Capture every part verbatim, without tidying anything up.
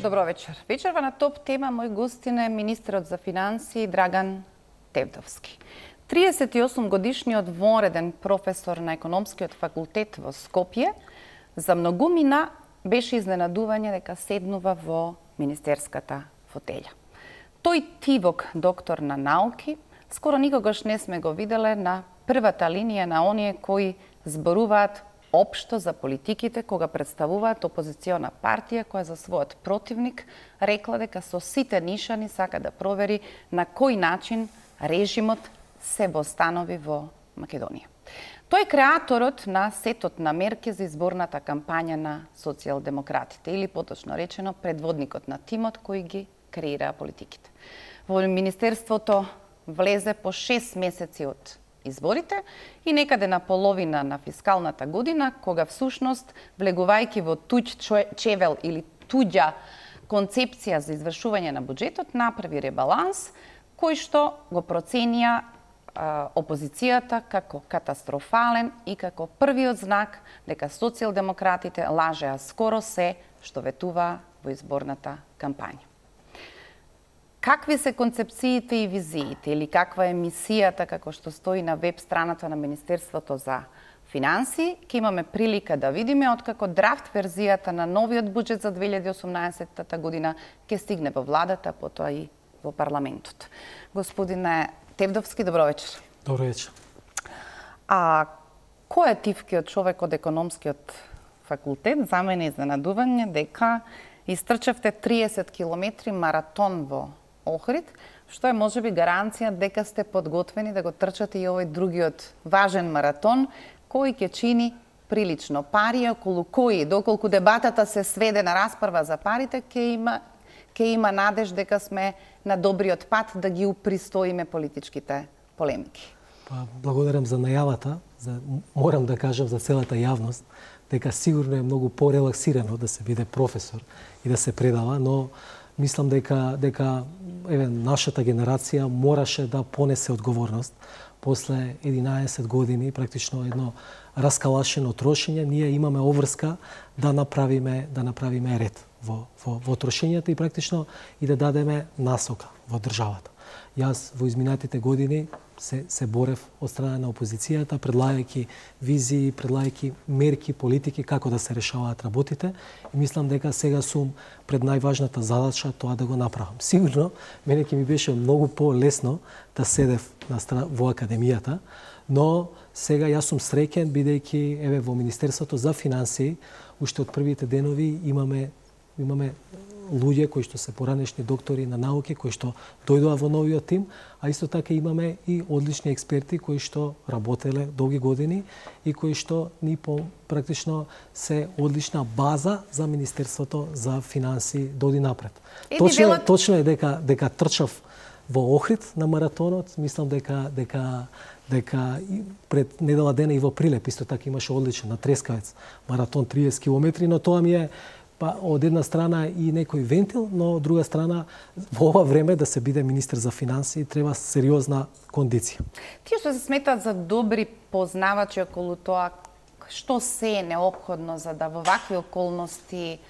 Добро вечер. Вечерва на топ тема мој гостин е министерот за финансии Драган Тевдовски. триесет и осум годишниот вонреден професор на економскиот факултет во Скопје за многумина беше изненадување дека седнува во министерската фотеља. Тој тивок доктор на науки скоро никогаш не сме го виделе на првата линија на оние кои зборуваат општо за политиките кога представуваат опозициона партија која за својот противник рекла дека со сите нишани сака да провери на кој начин режимот се востанови во Македонија. Тој е креаторот на сетот на мерки за изборната кампања на социјалдемократите или поточно речено предводникот на тимот кој ги креира политиките. Во министерството влезе по шест месеци од изборите и некаде на половина на фискалната година, кога всушност, влегувајќи во туѓ чевел или туѓа концепција за извршување на буџетот, направи ребаланс кој што го проценија а, опозицијата како катастрофален и како првиот знак дека социјалдемократите лажеа скоро се што ветува во изборната кампања. Какви се концепциите и визиите или каква е мисијата како што стои на веб страната на Министерството за финансии, ќе имаме прилика да видиме откако драфт верзијата на новиот буџет за две илјади и осумнаесетта година ќе стигне во владата, потоа и во парламентот. Господине Тевдовски, добро вечер. Добро вечер. А кој е тивкиот човек од економскиот факултет? За мене е изненадување дека истрчавте триесет километри маратон во Охрид, што е можеби гаранција дека сте подготвени да го трчате и овој другиот важен маратон, кој ќе чини прилично пари, околу кои, доколку дебатата се сведе на расправа за парите, ќе има, ќе има надеж дека сме на добриот пат да ги упристоиме политичките полемики. Па, благодарам за најавата, за, морам да кажам за целата јавност, дека сигурно е многу порелаксирано да се биде професор и да се предава, но мислам дека дека еве нашата генерација мораше да понесе одговорност после единаесет години, практично едно раскалашено трошење, ние имаме обврска да направиме да направиме ред во во во трошењата и практично и да дадеме насока во државата. Јас во изминатите години се се борев од страна на опозицијата, предлагајќи визии, предлагајќи мерки, политики како да се решаваат работите и мислам дека сега сум пред најважната задача тоа да го направам. Сигурно мене ќе ми беше многу полесно да седев на страна во академијата, но сега јас сум среќен бидејќи еве во Министерството за финансии уште од првите денови имаме имаме луѓе кои што се поранешни доктори на науки кои што дојдоа во новиот тим, а исто така имаме и одлични експерти кои што работеле долги години и кои што ни по практично се одлична база за Министерството за финансии доди напред. Точно, велат... точно е дека дека трчав во Охрид на маратонот, мислам дека дека дека пред недела дена и во Прилеп исто така имаше одличен на Трескавец маратон триесет километри, но тоа ми е па од една страна и некој вентил, но од друга страна во ова време да се биде министер за финансии треба сериозна кондиција. Тие што се сметат за добри познавачи околу тоа што се е неопходно за да во вакви околности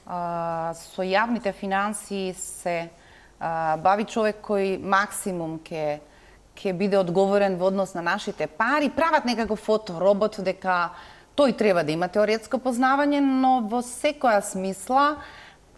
а, со јавните финансии се а, бави човек кој максимум ќе ќе биде одговорен во однос на нашите пари, прават некако фоторобот дека тој треба да има теоретско познавање, но во секоја смисла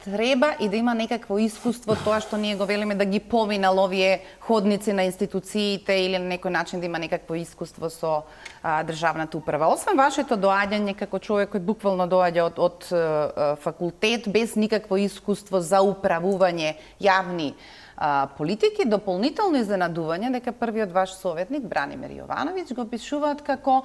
треба и да има некакво искуство, тоа што ние го велиме да ги поминал овие ходници на институциите или на некој начин да има некакво искуство со а, државната управа. Освен вашето доаѓање како човек кој буквално доаѓа од, од а, факултет без никакво искуство за управување јавни а, политики, дополнително изненадување дека првиот ваш советник Бранимир Јовановиќ го опишуваат како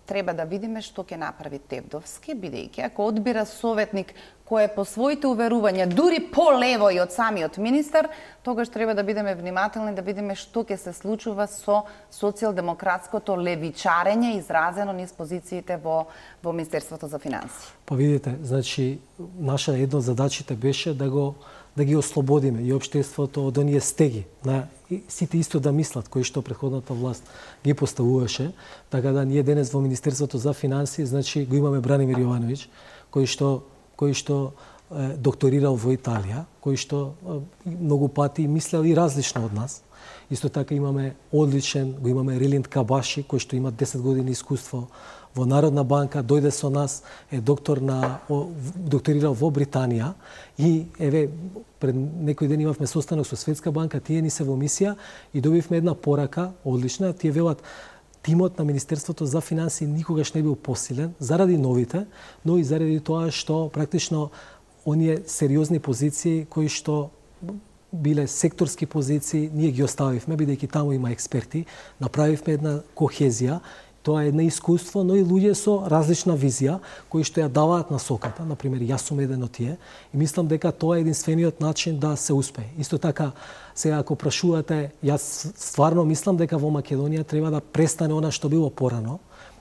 треба да видиме што ќе направи Тевдовски, бидејќи ако одбира советник кој е по своите уверувања дури полево и од самиот министар, тогаш треба да бидеме внимателни да видиме што ќе се случува со социјалдемократското левичарење изразено низ позициите во во Министерството за финансии. Па видите, значи наша една од задачите беше да го да ги ослободиме и општеството од оние стеги на сите исто да мислат кои што претходната власт ги поставуваше, така да ние денес во Министерството за финансии, значи го имаме Бранимир Јовановиќ, кој што кој што докторирал во Италија, кој што многу пати мислел и различно од нас. Исто така имаме одличен, го имаме Рилинд Кабаши, кој што има десет години искуство во Народна банка, дојде со нас, е доктор на докторирал во Британија и еве пред некој ден имавме состанок со Светска банка, тие ни се во мисија и добивме една порака одлична, тие велат тимот на Министерството за финансии никогаш не бил посилен заради новите, но и заради тоа што практично оние сериозни позиции кои што биле секторски позиции, ние ги оставивме, бидејќи таму има експерти, направивме една кохезија. Тоа е едно искуство, но и луѓе со различна визија, кои што ја даваат насоката. Например, јас сум еден од тие и мислам дека тоа е единствениот начин да се успее. Исто така, сега ако прашувате, јас стварно мислам дека во Македонија треба да престане она што било порано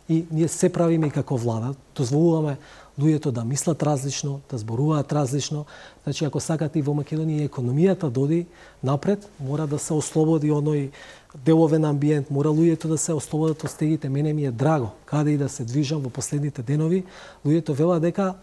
и ние се правиме и како влада, дозволуваме луѓето да мислат различно, да зборуваат различно. Значи, ако сакате и во Македонија економијата доди напред, мора да се ослободи оној деловен амбиент, мора луѓето да се ослободат од стегите. Мене ми е драго, каде и да се движам во последните денови, луѓето велат дека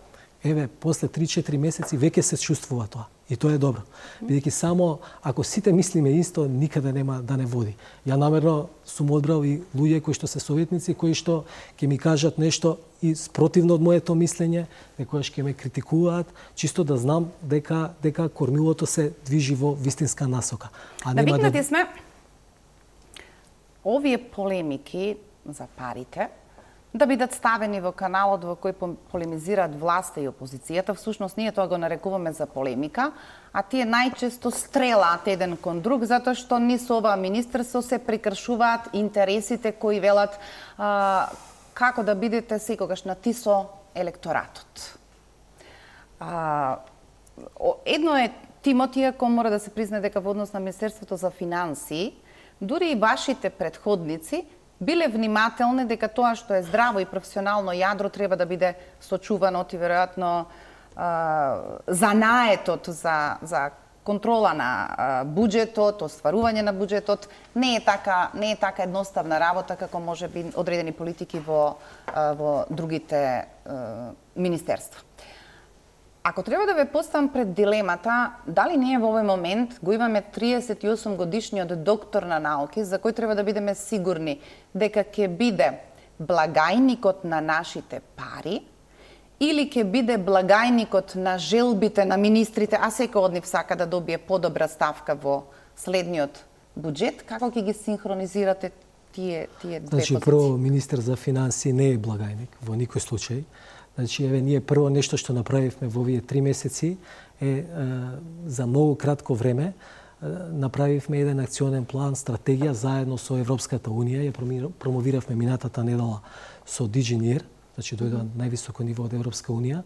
еве, после три-четири месеци веќе се чувствува тоа. И тоа е добро. Бидејќи само ако сите мислиме исто, никаде нема да не води. Ја намерно сум одбрал и луѓе кои што се советници, кои што ќе ми кажат нешто и спротивно од моето мислење, некојаш ќе ме критикуваат, чисто да знам дека дека кормилото се движи во вистинска насока. А нема да викнати сме овие полемики за парите да бидат ставени во каналот во кој полемизираат власта и опозицијата. Всушност, ние тоа го нарекуваме за полемика, а тие најчесто стрелаат еден кон друг, затоа што ни со ова министерство се прекршуваат интересите кои велат а, како да бидете секогаш на ти со електоратот. А, едно е тимот, иако мора да се признае дека во однос на Министерството за финансии, дури и вашите претходници биле внимателни дека тоа што е здраво и професионално јадро треба да биде сочувано и веројатно занаетот за, за контрола на буџетот, остварување на буџетот не е така не е така едноставна работа како може би одредени политики во во другите министерства. Ако треба да ве поставам пред дилемата, дали ние во овој момент го имаме триесет и осум годишниот доктор на науки, за кој треба да бидеме сигурни дека ќе биде благајникот на нашите пари, или ќе биде благајникот на желбите на министрите, а секој од нив сака да добие подобра ставка во следниот буџет, како ќе ги синхронизирате тие, тие две значи, позиции? Прво, министер за финансии не е благајник во никој случај. Значи, еве, ние прво нешто што направивме во овие три месеци е, е за многу кратко време е, направивме еден акционен план, стратегија заедно со Европската унија, ја промовиравме минатата недела со DigiNear, значи дојдоа највисоко ниво од Европска унија.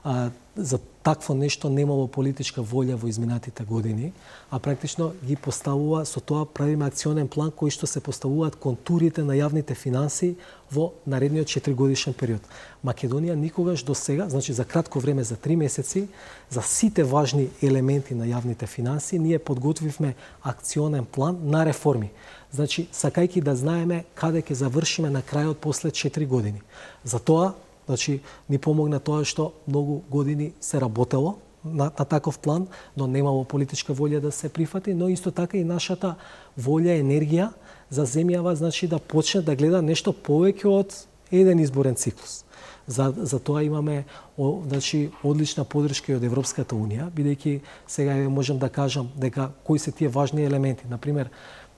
А, за такво нешто немало политичка волја во изминатите години, а практично ги поставува, со тоа правиме акционен план кој што се поставуваат контурите на јавните финансии во наредниот четиригодишен период. Македонија никогаш до сега, значи за кратко време, за три месеци, за сите важни елементи на јавните финансии, ние подготвивме акционен план на реформи. Значи, сакајки да знаеме каде ќе завршиме на крајот после четири години. За тоа, значи, ни помогна тоа што многу години се работело на, на таков план, но немало политичка волја да се прифати, но исто така и нашата волја, енергија за земјава, значи да почне да гледа нешто повеќе од еден изборен циклус. За, за тоа имаме о, значи, одлична подршка од Европската унија, бидејќи сега можам да кажам дека кои се тие важни елементи. Например,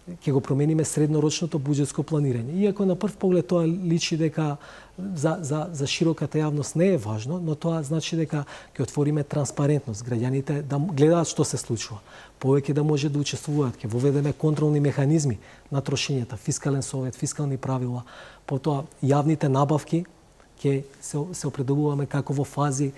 ќе го промениме среднорочното буџетско планирање. Иако на прв поглед тоа личи дека за, за, за широката јавност не е важно, но тоа значи дека ќе отвориме транспарентност, граѓаните да гледаат што се случува, повеќе да може да учествуваат, ќе воведеме контролни механизми на трошењата, фискален совет, фискални правила, потоа јавните набавки ќе се, се определуваме како во фази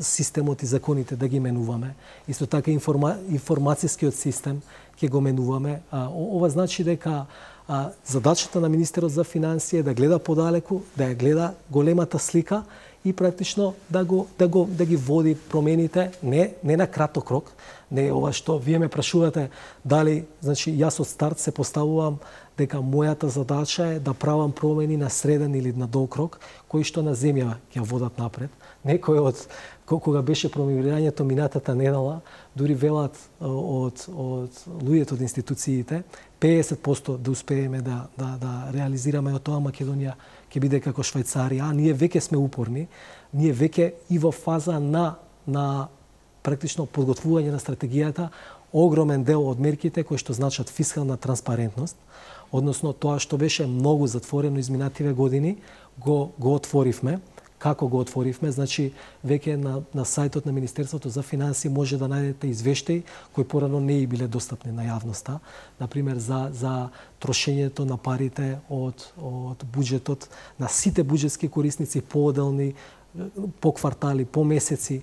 системот и законите да ги менуваме. Исто така информа, информацијскиот систем ќе го менуваме. А, ова значи дека а, задачата на Министерот за финансии е да гледа подалеку, да ја гледа големата слика и практично да го да го да ги води промените не не на краток рок, не ова што вие ме прашувате дали, значи јас од старт се поставувам дека мојата задача е да правам промени на среден или на долг рок, кои што на земја ќе водат напред. Некој од кога беше промовирањето минатата недела, дури велат од од луѓето од институциите, педесет проценти да успееме да да да реализираме од тоа Македонија ќе биде како Швајцарија, а ние веќе сме упорни, ние веќе и во фаза на на практично подготвување на стратегијата, огромен дел од мерките кои што значат фискална транспарентност, односно тоа што беше многу затворено изминативе години, го го отворивме. Како го отворивме, значи веќе на на сајтот на Министерството за финансии може да најдете извештаи кои порано не и биле достапни на јавноста, на пример за за трошењето на парите од од буџетот на сите буџетски корисници поодделни, по квартали, по месеци.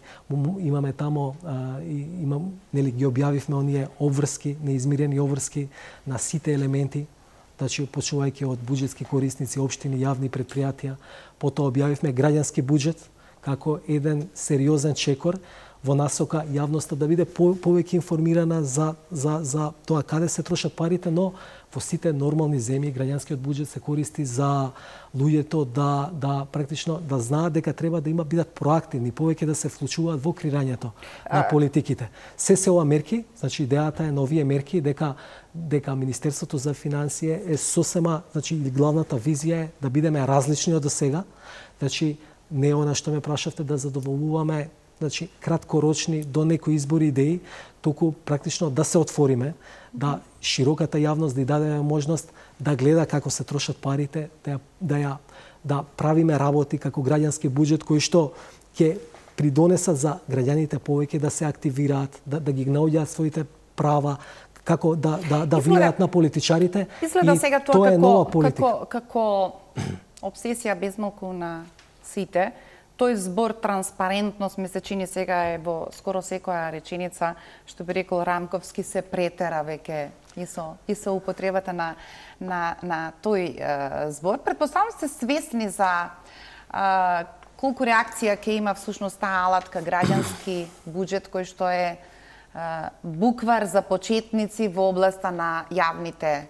Имаме тамо а, имам нели ги објавивме оние обврски, неизмирени обврски на сите елементи, значи почнувајќи од буџетски корисници, општини, јавни предпријатија. Потоа објавивме граѓански буџет како еден сериозен чекор во насока јавноста да биде по, повеќе информирана за, за, за тоа каде се трошат парите, но во сите нормални земји граѓанскиот буџет се користи за луѓето да да практично да знаат дека треба да има бидат проактивни, повеќе да се вклучуваат во креирањето на политиките. Се се ова мерки, значи идејата е на овие мерки дека дека Министерството за финансии е сосема, значи главната визија е да бидеме различни од досега. Значи не она што ме прашавте да задоволуваме, значи краткорочни до некои избори идеи, туку практично да се отвориме, да широката јавност да ја дадеме можност да гледа како се трошат парите, да ја, да ја да правиме работи како граѓански буџет кои што ќе придонесат за граѓаните повеќе да се активираат, да, да ги наоѓаат своите права, како да да да влијаат на политичарите. Изгледа сега тоа, тоа како како како обсесија безмалку на сите. Тој збор транспарентност ми се чини сега е во скоро секоја реченица, што би рекол Рамковски, се претера веќе и со и со употребата на на на тој е, збор. Претпоставам сте свесни за е, колку реакција ќе има всушност таа алатка граѓански буџет кој што е буквар за почетници во областа на јавните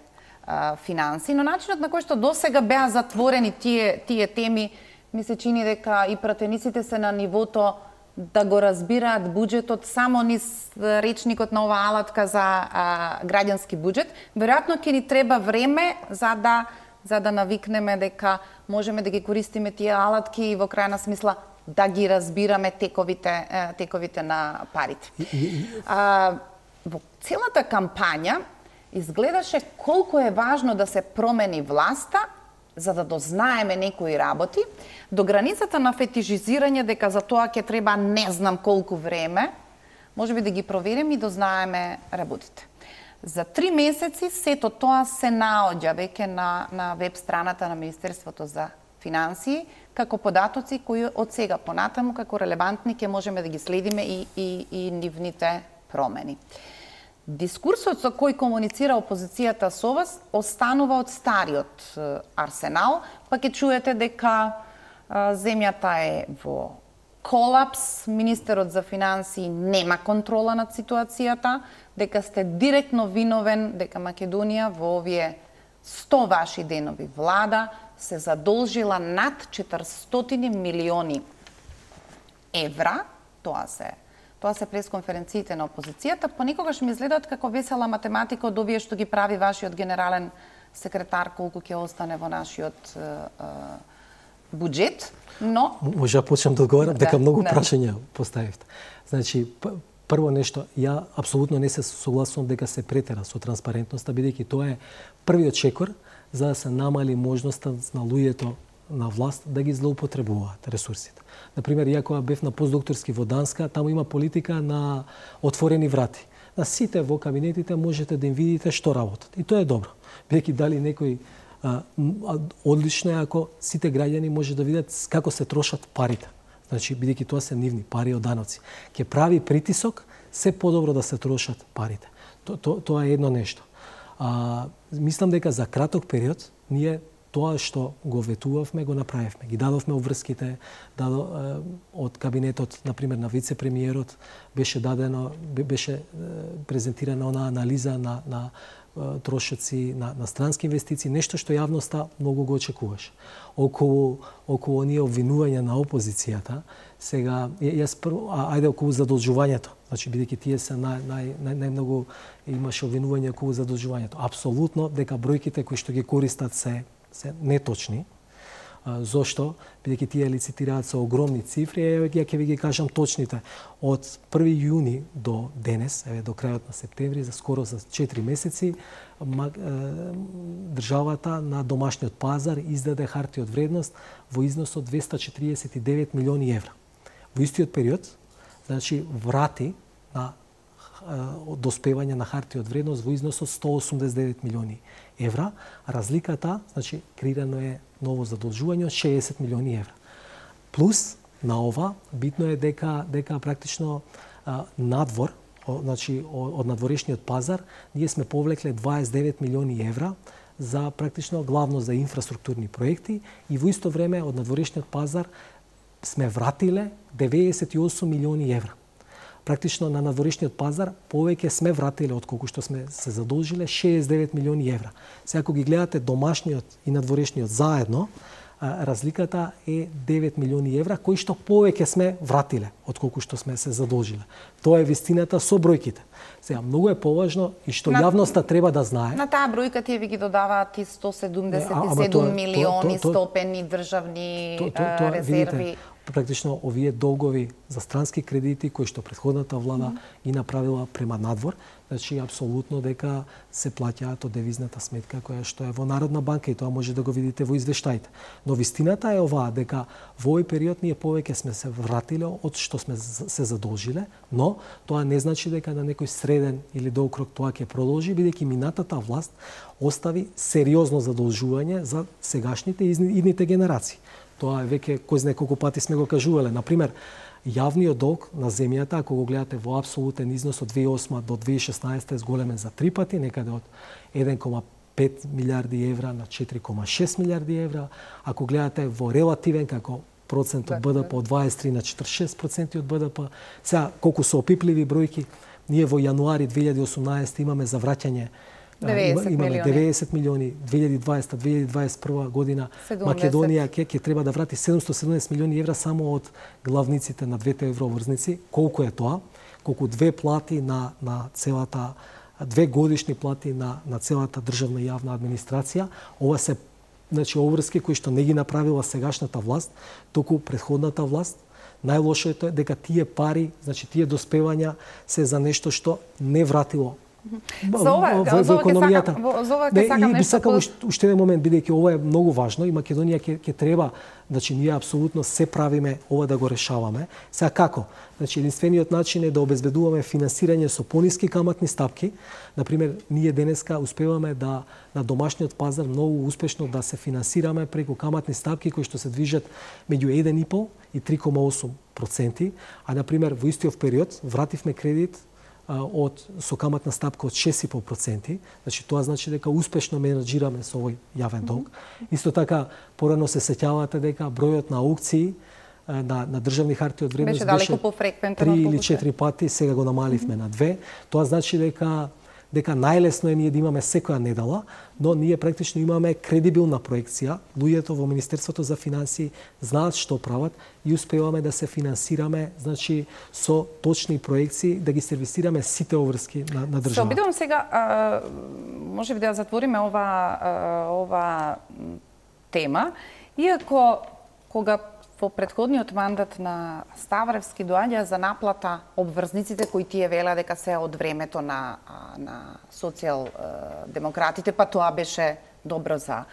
а, финанси, но начинот на кој што досега беа затворени тие тие теми ми се чини дека и пратениците се на нивото да го разбираат буџетот само низ речникот на оваа алатка за а, граѓански буџет. Веројатно ќе ни треба време за да за да навикнеме дека можеме да ги користиме тие алатки и во крајна смисла да ги разбираме тековите тековите на парите. А, во целата кампања изгледаше колку е важно да се промени власта за да дознаеме некои работи, до границата на фетишизирање дека за тоа ќе треба не знам колку време, можеби да ги провериме и дознаеме работите. За три месеци сето тоа се наоѓа веќе на на веб страната на Министерството за финансии, како податоци кои од сега понатаму како релевантни ќе можеме да ги следиме и, и, и нивните промени. Дискурсот со кој комуницира опозицијата со вас останува од стариот арсенал, па ќе чуете дека а, земјата е во колапс, министерот за финансии нема контрола над ситуацијата, дека сте директно виновен, дека Македонија во овие сто ваши денови влада се задолжила над четиристотини милиони евра, тоа се Тоа се пресконференциите на опозицијата, понекогаш ми изгледаат како весела математика од овие што ги прави вашиот генерален секретар, колку ќе остане во нашиот е, е, буџет, но... Може да почнем да одговарам, дека да, многу да. прашања поставивте. Значи, прво нешто, ја апсолутно не се согласувам дека се претера со транспарентноста, бидејќи тоа е првиот чекор за да се намали можноста на луѓето на власт да ги злоупотребуваат ресурсите. Например, ја кога бев на постдокторски во Данска, таму има политика на отворени врати. На сите во кабинетите можете да им видите што работат. И тоа е добро. Бидејќи дали некој а, одлично е ако сите граѓани може да видат како се трошат парите. Значи, бидејќи тоа се нивни пари од даноци. Ќе прави притисок се подобро да се трошат парите. То, то, тоа е едно нешто. А, мислам дека за краток период ние тоа што го ветувавме, го направивме. Ги дадовме обврските, дадо, од кабинетот, например, на вице-премиерот, беше дадено, беше презентирана она анализа на, на трошоци, на, на странски инвестиции, нешто што јавноста многу го очекуваше. Околу, околу оние обвинувања на опозицијата, сега, јас прво, а, ајде околу задолжувањето, значи, бидејќи тие се нај, нај, нај, најмногу имаше обвинување околу задолжувањето. Апсолутно, дека бројките кои што ги користат се, се неточни. Зошто? Бидејќи тие лицитираат со огромни цифри, еве ја ќе ви ги кажам точните. Од први јуни до денес, еве до крајот на септември, за скоро за четири месеци, државата на домашниот пазар издаде харти од вредност во износ од двесте четиридесет и девет милиони евра. Во истиот период, значи врати на доспевање на харти од вредност во износ од сто осумдесет и девет милиони евра, а разликата, значи, креирано е ново задолжување од шеесет милиони евра. Плюс на ова битно е дека дека практично а, надвор, о, значи од надворешниот пазар, ние сме повлекле дваесет и девет милиони евра за практично главно за инфраструктурни проекти и во исто време од надворешниот пазар сме вратиле деветдесет и осум милиони евра. Практично на надворешниот пазар повеќе сме вратиле од колку што сме се задолжиле шеесет и девет милиони евра. Сега ако ги гледате домашниот и надворешниот заедно, разликата е девет милиони евра, кои што повеќе сме вратиле од колку што сме се задолжиле. Тоа е вистината со бројките. Сега многу е поважно и што на, јавноста треба да знае. На таа бројка тие ви ги додаваат и сто седумдесет и седум милиони стопени државни то, то, то, резерви. Видите, практично овие долгови за странски кредити кои што претходната влада mm -hmm. ги направила према надвор, значи апсолутно дека се плаќаат од девизната сметка која што е во Народна банка и тоа може да го видите во извештаите. Но вистината е оваа дека во овој период ние повеќе сме се вратиле од што сме се задолжиле, но тоа не значи дека на некој среден или долг рок тоа ќе продолжи, бидејќи минатата власт остави сериозно задолжување за сегашните и идните генерации. Тоа е веќе кој знае колку пати сме го кажувале. Например, јавниот долг на земјата, ако го гледате во апсолутен износ од две илјади и осма до две илјади и шеснаесета е зголемен за три пати, некаде од еден кома пет милијарди евра на четири кома шест милијарди евра. Ако гледате во релативен како процент од Б Д П од дваесет и три на четиридесет и шест проценти од Б Д П. Сега колку се опипливи бројки, ние во јануари две илјади и осумнаесета имаме за враќање имаме деветдесет милиони, две илјади и дваесета две илјади и дваесет и прва година седумдесет. Македонија ќе ќе треба да врати седумстотини и седумдесет милиони евра само од главниците на двете евроврзници. Колку е тоа? Колку две плати на на целата две годишни плати на на целата државна и јавна администрација. Ова се значи обврски кои што не ги направила сегашната власт, току претходната власт. Најлошото е дека тие пари, значи тие доспевања се за нешто што не вратило За ова, во, во економијата. За ова ќе сакам нешто. Сакам уште еден момент, бидејќи ова е многу важно и Македонија ќе ќе треба, значи ние апсолутно се правиме ова да го решаваме. Сега како? Значи единствениот начин е да обезбедуваме финансирање со пониски каматни стапки. Например, ние денеска успеваме да на домашниот пазар многу успешно да се финансираме преку каматни стапки кои што се движат меѓу еден и пол и три кома осум проценти, а например во истиот период вративме кредит од со каматна стапка од шест и пол проценти, значи тоа значи дека успешно менаџираме со овој јавен долг. Mm-hmm. Исто така порано се сеќавате дека бројот на аукции на на државни харти од вредност беше далеко пофреквентен три или четири пати, сега го намаливме mm-hmm. на две. Тоа значи дека дека најлесно е ние да имаме секоја недела, но ние практично имаме кредибилна проекција. Луѓето во Министерството за финансии знаат што прават и успеваме да се финансираме, значи со точни проекции, да ги сервисираме сите обврски на, на државата. Се обидувам сега, а, може би да затвориме ова а, ова тема, иако кога во претходниот мандат на Ставревски доаѓа за наплата обврзниците кои тие велеа дека се од времето на на социјал-демократите, па тоа беше добро за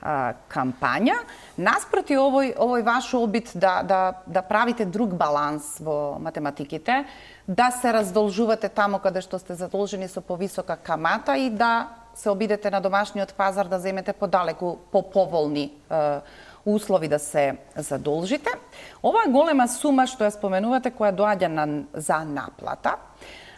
а, кампања. Наспроти овој овој ваш обид да да да правите друг баланс во математиките, да се раздолжувате таму каде што сте задолжени со повисока камата и да се обидете на домашниот пазар да земете подалеку по поволни а, услови да се задолжите. Оваа голема сума што ја споменувате, која доаѓа на, за наплата,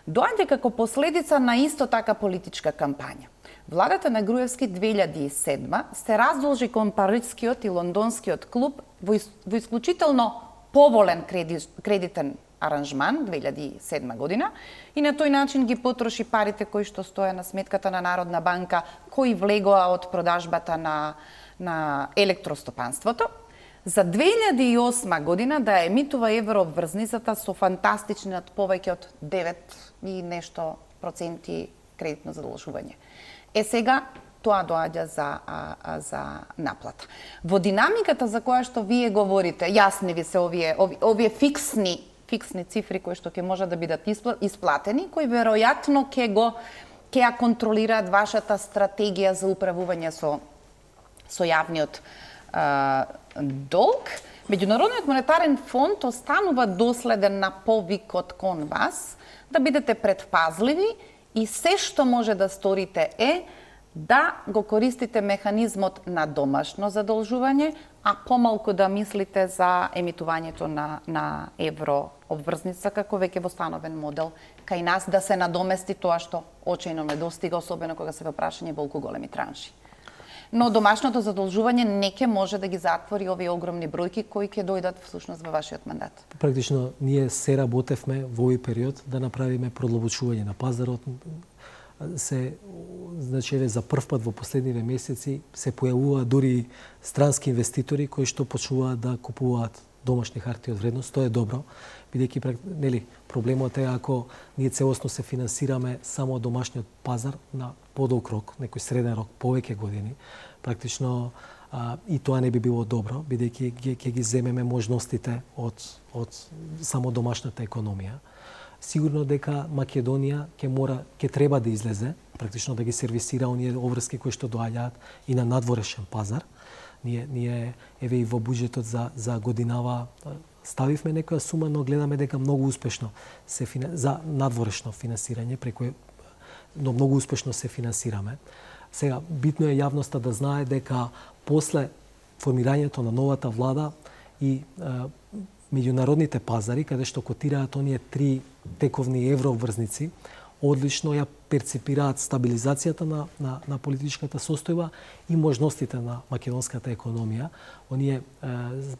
доаѓа како последица на исто така политичка кампања. Владата на Груевски две илјади и седма се раздолжи кон парижскиот и лондонскиот клуб во, ис, во исклучително поволен креди, кредитен аранжман две илјади и седма година и на тој начин ги потроши парите кои што стоја на сметката на Народна банка, кои влегоа од продажбата на, на електростопанството. За две илјади и осма година да емитува еврообврзницата со фантастичниот повеќе од девет и нешто проценти кредитно задолжување. Е сега тоа доаѓа за, а, а, за наплата. Во динамиката за која што вие говорите, јасни ви се овие, овие, овие фиксни, фиксни цифри кои што ќе можат да бидат исплатени, кои веројатно ќе го ќе ја контролираат вашата стратегија за управување со со јавниот а, долг. Меѓународниот монетарен фонд останува доследен на повикот кон вас да бидете предпазливи и се што може да сторите е да го користите механизмот на домашно задолжување, а помалку да мислите за емитувањето на, на евро обврзница како веќе восстановен модел кај нас да се надомести тоа што очајно недостига, особено кога се во прашање болку големи транши. Но домашното задолжување не ќе може да ги затвори овие огромни бројки кои ќе дојдат всушност во вашиот мандат. Практично ние се работевме во овој период да направиме продлабочување на пазарот. Се, значи, еве, за прв пат во последниве месеци се појавуваат дури странски инвеститори кои што почнуваат да купуваат домашни харти од вредност. Тоа е добро, бидејќи нели проблемот е ако ние целосно се финансираме само од домашниот пазар на подолг рок, некој среден рок, повеќе години, практично а, и тоа не би било добро, бидејќи ќе ги земеме можностите од од само домашната економија. Сигурно дека Македонија ќе мора, ќе треба да излезе, практично да ги сервисира оние обврски кои што доаѓаат и на надворешен пазар. Ние, ние еве и во буџетот за за годинава ставивме некоја сума, но гледаме дека многу успешно се за надворешно финансирање преку но многу успешно се финансираме. Сега битно е јавноста да знае дека после формирањето на новата влада и е, меѓународните пазари, каде што котираат оние три тековни еврообврзници, одлично ја перципираат стабилизацијата на, на, на политичката состојба и можностите на македонската економија. Оние е,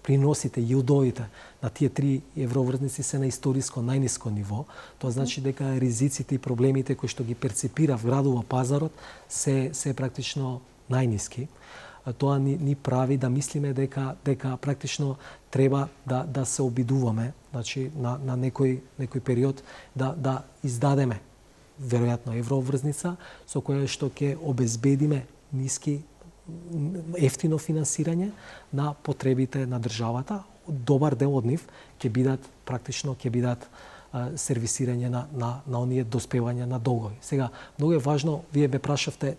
приносите, јилдовите на тие три еврообврзници се на историско најниско ниво. Тоа значи дека ризиците и проблемите кои што ги перципира вградува пазарот се, се практично најниски. Тоа ни, ни прави да мислиме дека дека практично треба да да се обидуваме, значи на на некој некој период да да издадеме веројатно еврообврзница со која што ќе обезбедиме ниски ефтино финансирање на потребите на државата. Добар дел од нив ќе бидат практично ќе бидат а, сервисирање на на на оние доспевања на долгови. Сега многу е важно, вие ме прашавте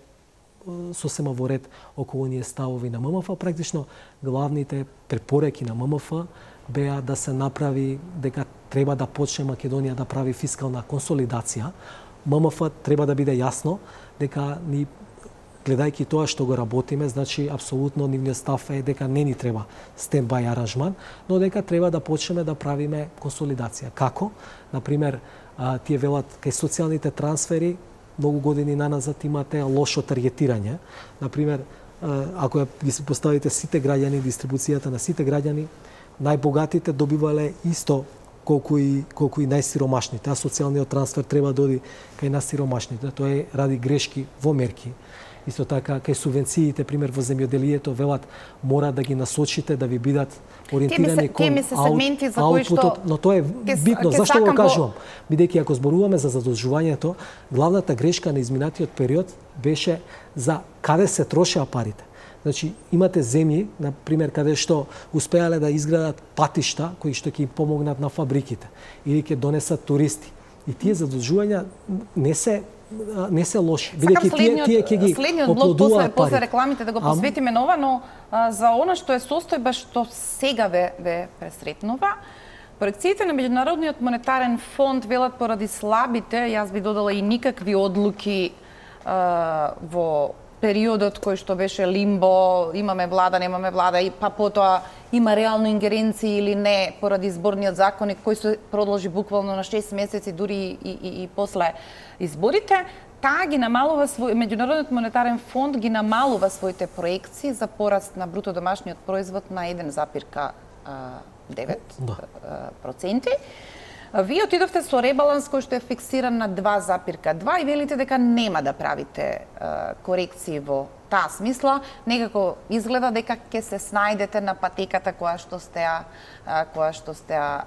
сосема во ред околу оние ставови на ММФ, практично главните препораки на ММФ беа да се направи дека треба да почне Македонија да прави фискална консолидација. ММФ треба да биде јасно дека ни гледајќи тоа што го работиме, значи апсолутно нивниот став е дека не ни треба стендбај аранжман, но дека треба да почнеме да правиме консолидација. Како? Например, тие велат кај социјалните трансфери многу години наназад имате лошо таргетирање. Например, ако ги се поставите сите граѓани, дистрибуцијата на сите граѓани, најбогатите добивале исто колку и колку и најсиромашните, а социјалниот трансфер треба да оди кај најсиромашните. Тоа е ради грешки во мерки. Исто така, кај субвенциите, пример во земјоделието, велат мора да ги насочите да ви бидат ориентирани кон аутпутот, но тоа е битно. Зашто го кажувам? Бидејќи ако зборуваме за задолжувањето, главната грешка на изминатиот период беше за каде се трошеа парите. Значи, имате земји, на пример, каде што успеале да изградат патишта кои што ќе им помогнат на фабриките или ќе донесат туристи. И тие задолжувања не се не се лоши. Бидејќи тие тие ќе ги следниот блок после после рекламите да го посветиме на ова, но а, за она што е состојба што сега ве ве пресретнува, проекциите на Меѓународниот монетарен фонд велат поради слабите, јас би додала и никакви одлуки а, во периодот кој што беше лимбо, имаме влада, немаме влада, и па потоа има реално ингеренции или не поради изборниот законник кој се продолжи буквално на шест месеци, дури и, и, и после изборите, таа ги намалува свој Меѓународниот монетарен фонд ги намалува своите проекции за пораст на бруто домашниот производ на еден запир девет проценти. Вие отидовте со ребаланс кој што е фиксиран на два запир два и велите дека нема да правите корекции во таа смисла. Некако изгледа дека ќе се снајдете на патеката која што сте ја која што сте ја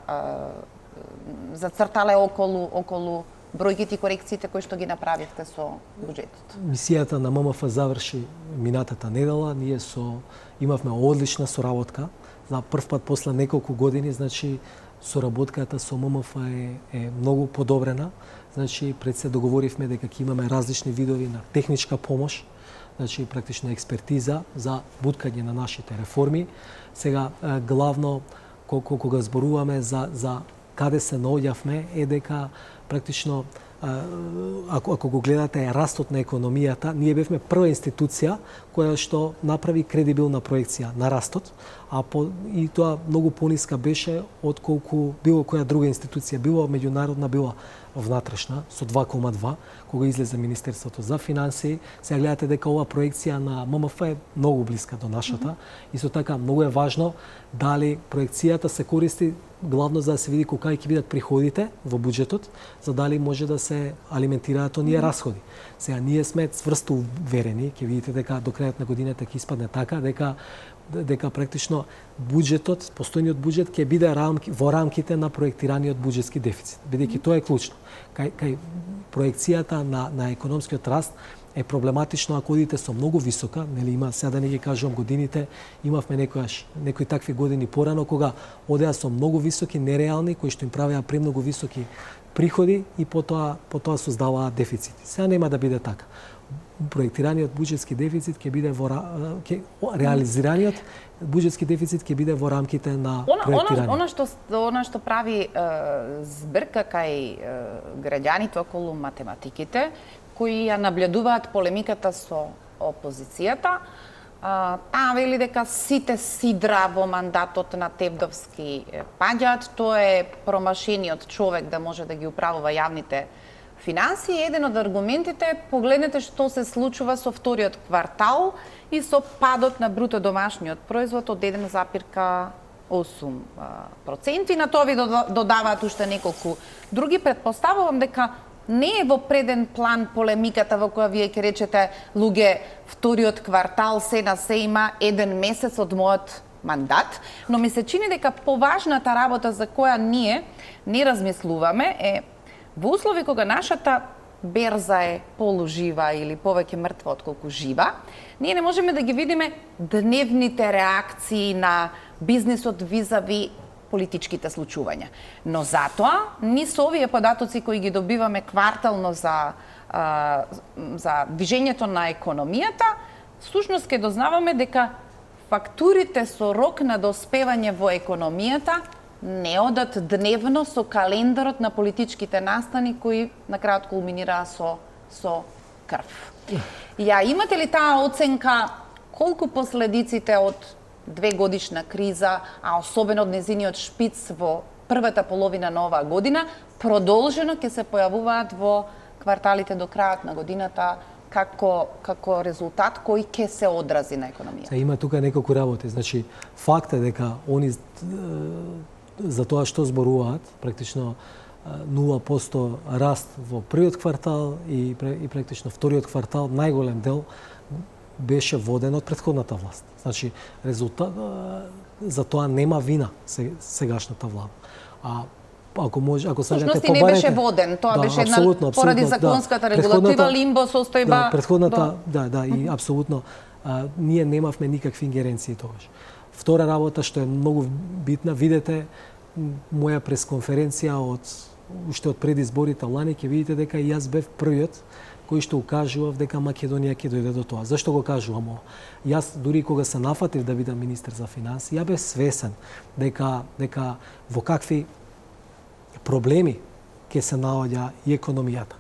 зацртале околу околу бројките и корекциите кои што ги направивте со буџетот. Мисијата на ММФ заврши минатата недела. Ние со имавме одлична соработка. За прв пат после неколку години, значи соработката со ММФ е, е многу подобрена. Значи пред се договоривме дека ќе имаме различни видови на техничка помош, значи практично експертиза за буткање на нашите реформи. Сега главно кога зборуваме за за каде се наоѓавме е дека практично ако ако го гледате растот на економијата, ние бевме прва институција која што направи кредибилна проекција на растот, а по, и тоа многу пониска беше од колку било која друга институција, било меѓународна, било внатрешна, со два кома два, кога излезе Министерството за финансии. Сега гледате дека ова проекција на ММФ е многу блиска до нашата. Mm -hmm. И со така многу е важно дали проекцијата се користи главно за да се види колка ќе бидат приходите во буџетот, за дали може да се алиментираат оние mm -hmm. расходи. Сега ние сме цврсто уверени, ќе видите дека до крајот на годината ќе испадне така, дека дека практично буџетот, постојниот буџет ќе биде рамки, во рамките на проектираниот буџетски дефицит, бидејќи тоа е клучно. Кај, кај проекцијата на, на економскиот раст е проблематично ако одите со многу висока, нели има, сега да не ги кажувам годините, имавме некојаш некои такви години порано кога одеа со многу високи нереални кои што им правеа премногу високи приходи и потоа потоа создаваа дефицити. Сега нема да биде така. Проектираниот буџетски дефицит ќе биде во ќе реализираниот буџетски дефицит ќе биде во рамките на проектирање. Она, она што она што прави е, збрка кај е, граѓаните околу математиките кои ја наблюдуваат полемиката со опозицијата, таа вели дека сите сидра во мандатот на Тевдовски паѓаат, тоа е промашениот човек да може да ги управува јавните финансии. Еден од аргументите е погледнете што се случува со вториот квартал и со падот на бруто домашниот производ од еден запир осум проценти. На тоа ви додаваат уште неколку други. Предпоставувам дека не е во преден план полемиката во која вие ќе речете луѓе вториот квартал се на се има еден месец од мојот мандат, но ми се чини дека поважната работа за која ние не размислуваме е во услови кога нашата берза е полужива или повеќе мртва отколку жива, ние не можеме да ги видиме дневните реакции на бизнисот визави политичките случувања. Но затоа, ни со овие податоци кои ги добиваме квартално за, а, за движењето на економијата, всушност ќе дознаваме дека фактурите со рок на доспевање во економијата не одат дневно со календарот на политичките настани кои на крајот кулминираа со со крв. Ја имате ли таа оценка колку последиците од две годишна криза, а особено од незиниот шпиц во првата половина на оваа година, продолжено ќе се појавуваат во кварталите до крајот на годината како како резултат кој ќе се одрази на економијата? Има тука неколку работи. Значи, факт е дека они за тоа што зборуваат, практично нула проценти раст во првиот квартал и, и практично вториот квартал, најголем дел беше воден од претходната власт. Значи, резултат за тоа нема вина сегашната влада. А ако може, ако сакате побарете, не беше воден, тоа да, беше една абсолютно, абсолютно, поради законската да, регулатива лимбо состојба. Да, претходната, да, да, да и апсолутно а, ние немавме никакви ингеренции тогаш. Втора работа што е многу битна, видете моја пресконференција од уште од пред изборите лани, ќе видите дека и јас бев првиот кој што укажував дека Македонија ќе дојде до тоа. Зашто го кажувам ова? Јас дури кога се нафатив да бидам министер за финансии, ја бев свесен дека дека во какви проблеми ќе се наоѓа и економијата.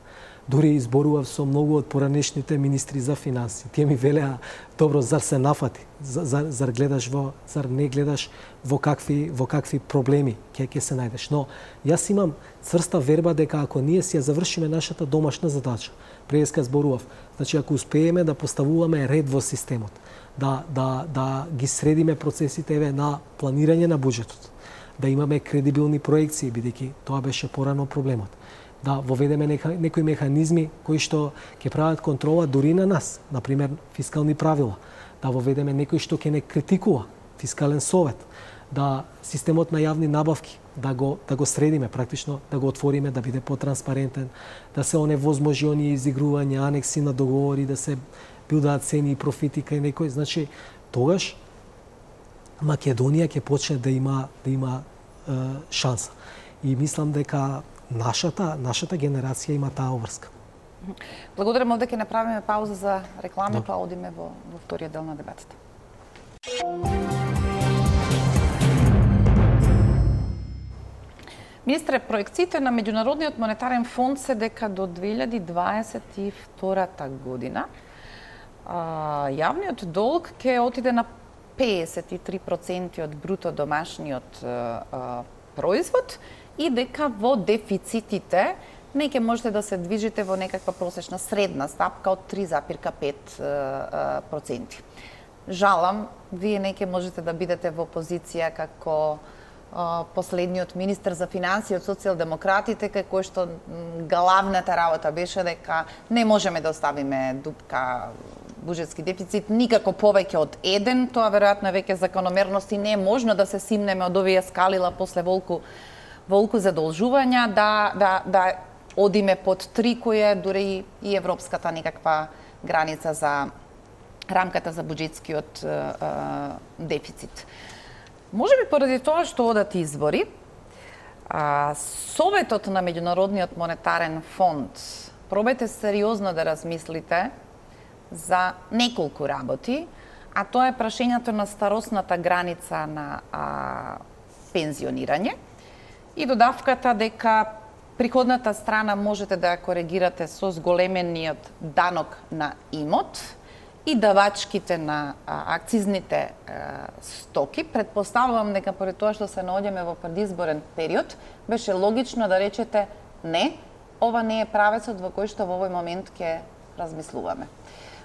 дури изборував со многу од поранешните министри за финанси. Тие ми велеа, добро, зар се нафати? Зар, зар гледаш во, зар не гледаш во какви во какви проблеми ќе ќе се најдеш? Но јас имам цврста верба дека ако ние си ја завршиме нашата домашна задача, преска зборував, значи ако успееме да поставуваме ред во системот, да да да ги средиме процесите еве на планирање на буџетот, да имаме кредибилни проекции, бидејќи тоа беше порано проблемот. Да воведеме нека, некои механизми кои што ќе прават контрола дури на нас, например фискални правила, да воведеме некој што ќе не критикува, фискален совет, да системот на јавни набавки да го да го средиме, практично да го отвориме, да биде потранспарентен, да се оневозможи оние изигрувања, анекси на договори, да се билдаат цени и профити кај некој, значи тогаш Македонија ќе почне да има да има е, шанса. И мислам дека нашата нашата генерација има таа обврска. Благодарам, овде ќе направиме пауза за реклами, па одиме во во вториот дел на дебатата. Министре, проекциите на Меѓународниот монетарен фонд се дека до две илјади дваесет и втора година а, јавниот долг ќе отиде на педесет и три проценти од бруто домашниот а, а, производ и дека во дефицитите не ќе можете да се движите во некаква просечна средна стапка од три зарез пет проценти. Жалам, вие не ќе можете да бидете во позиција како последниот министер за финансии од социјалдемократите, кај кој што главната работа беше дека не можеме да оставиме дупка буџетски дефицит никако повеќе од еден, тоа веројатно е веќе закономерност и не е можно да се симнеме од овие скалила после волку волку задолжувања да да да одиме под три, кој е дури и европската некаква граница за рамката за буџетскиот дефицит. Може би поради тоа што одат избори, а, Советот на Меѓународниот монетарен фонд пробајте сериозно да размислите за неколку работи, а тоа е прашањето на старосната граница на а, пензионирање и додавката дека приходната страна можете да ја коригирате со зголемениот данок на имот и давачките на а, акцизните а, стоки. Предпоставувам дека поред тоа што се наоѓаме во предизборен период, беше логично да речете не, ова не е правецот во кој што во овој момент ќе размислуваме.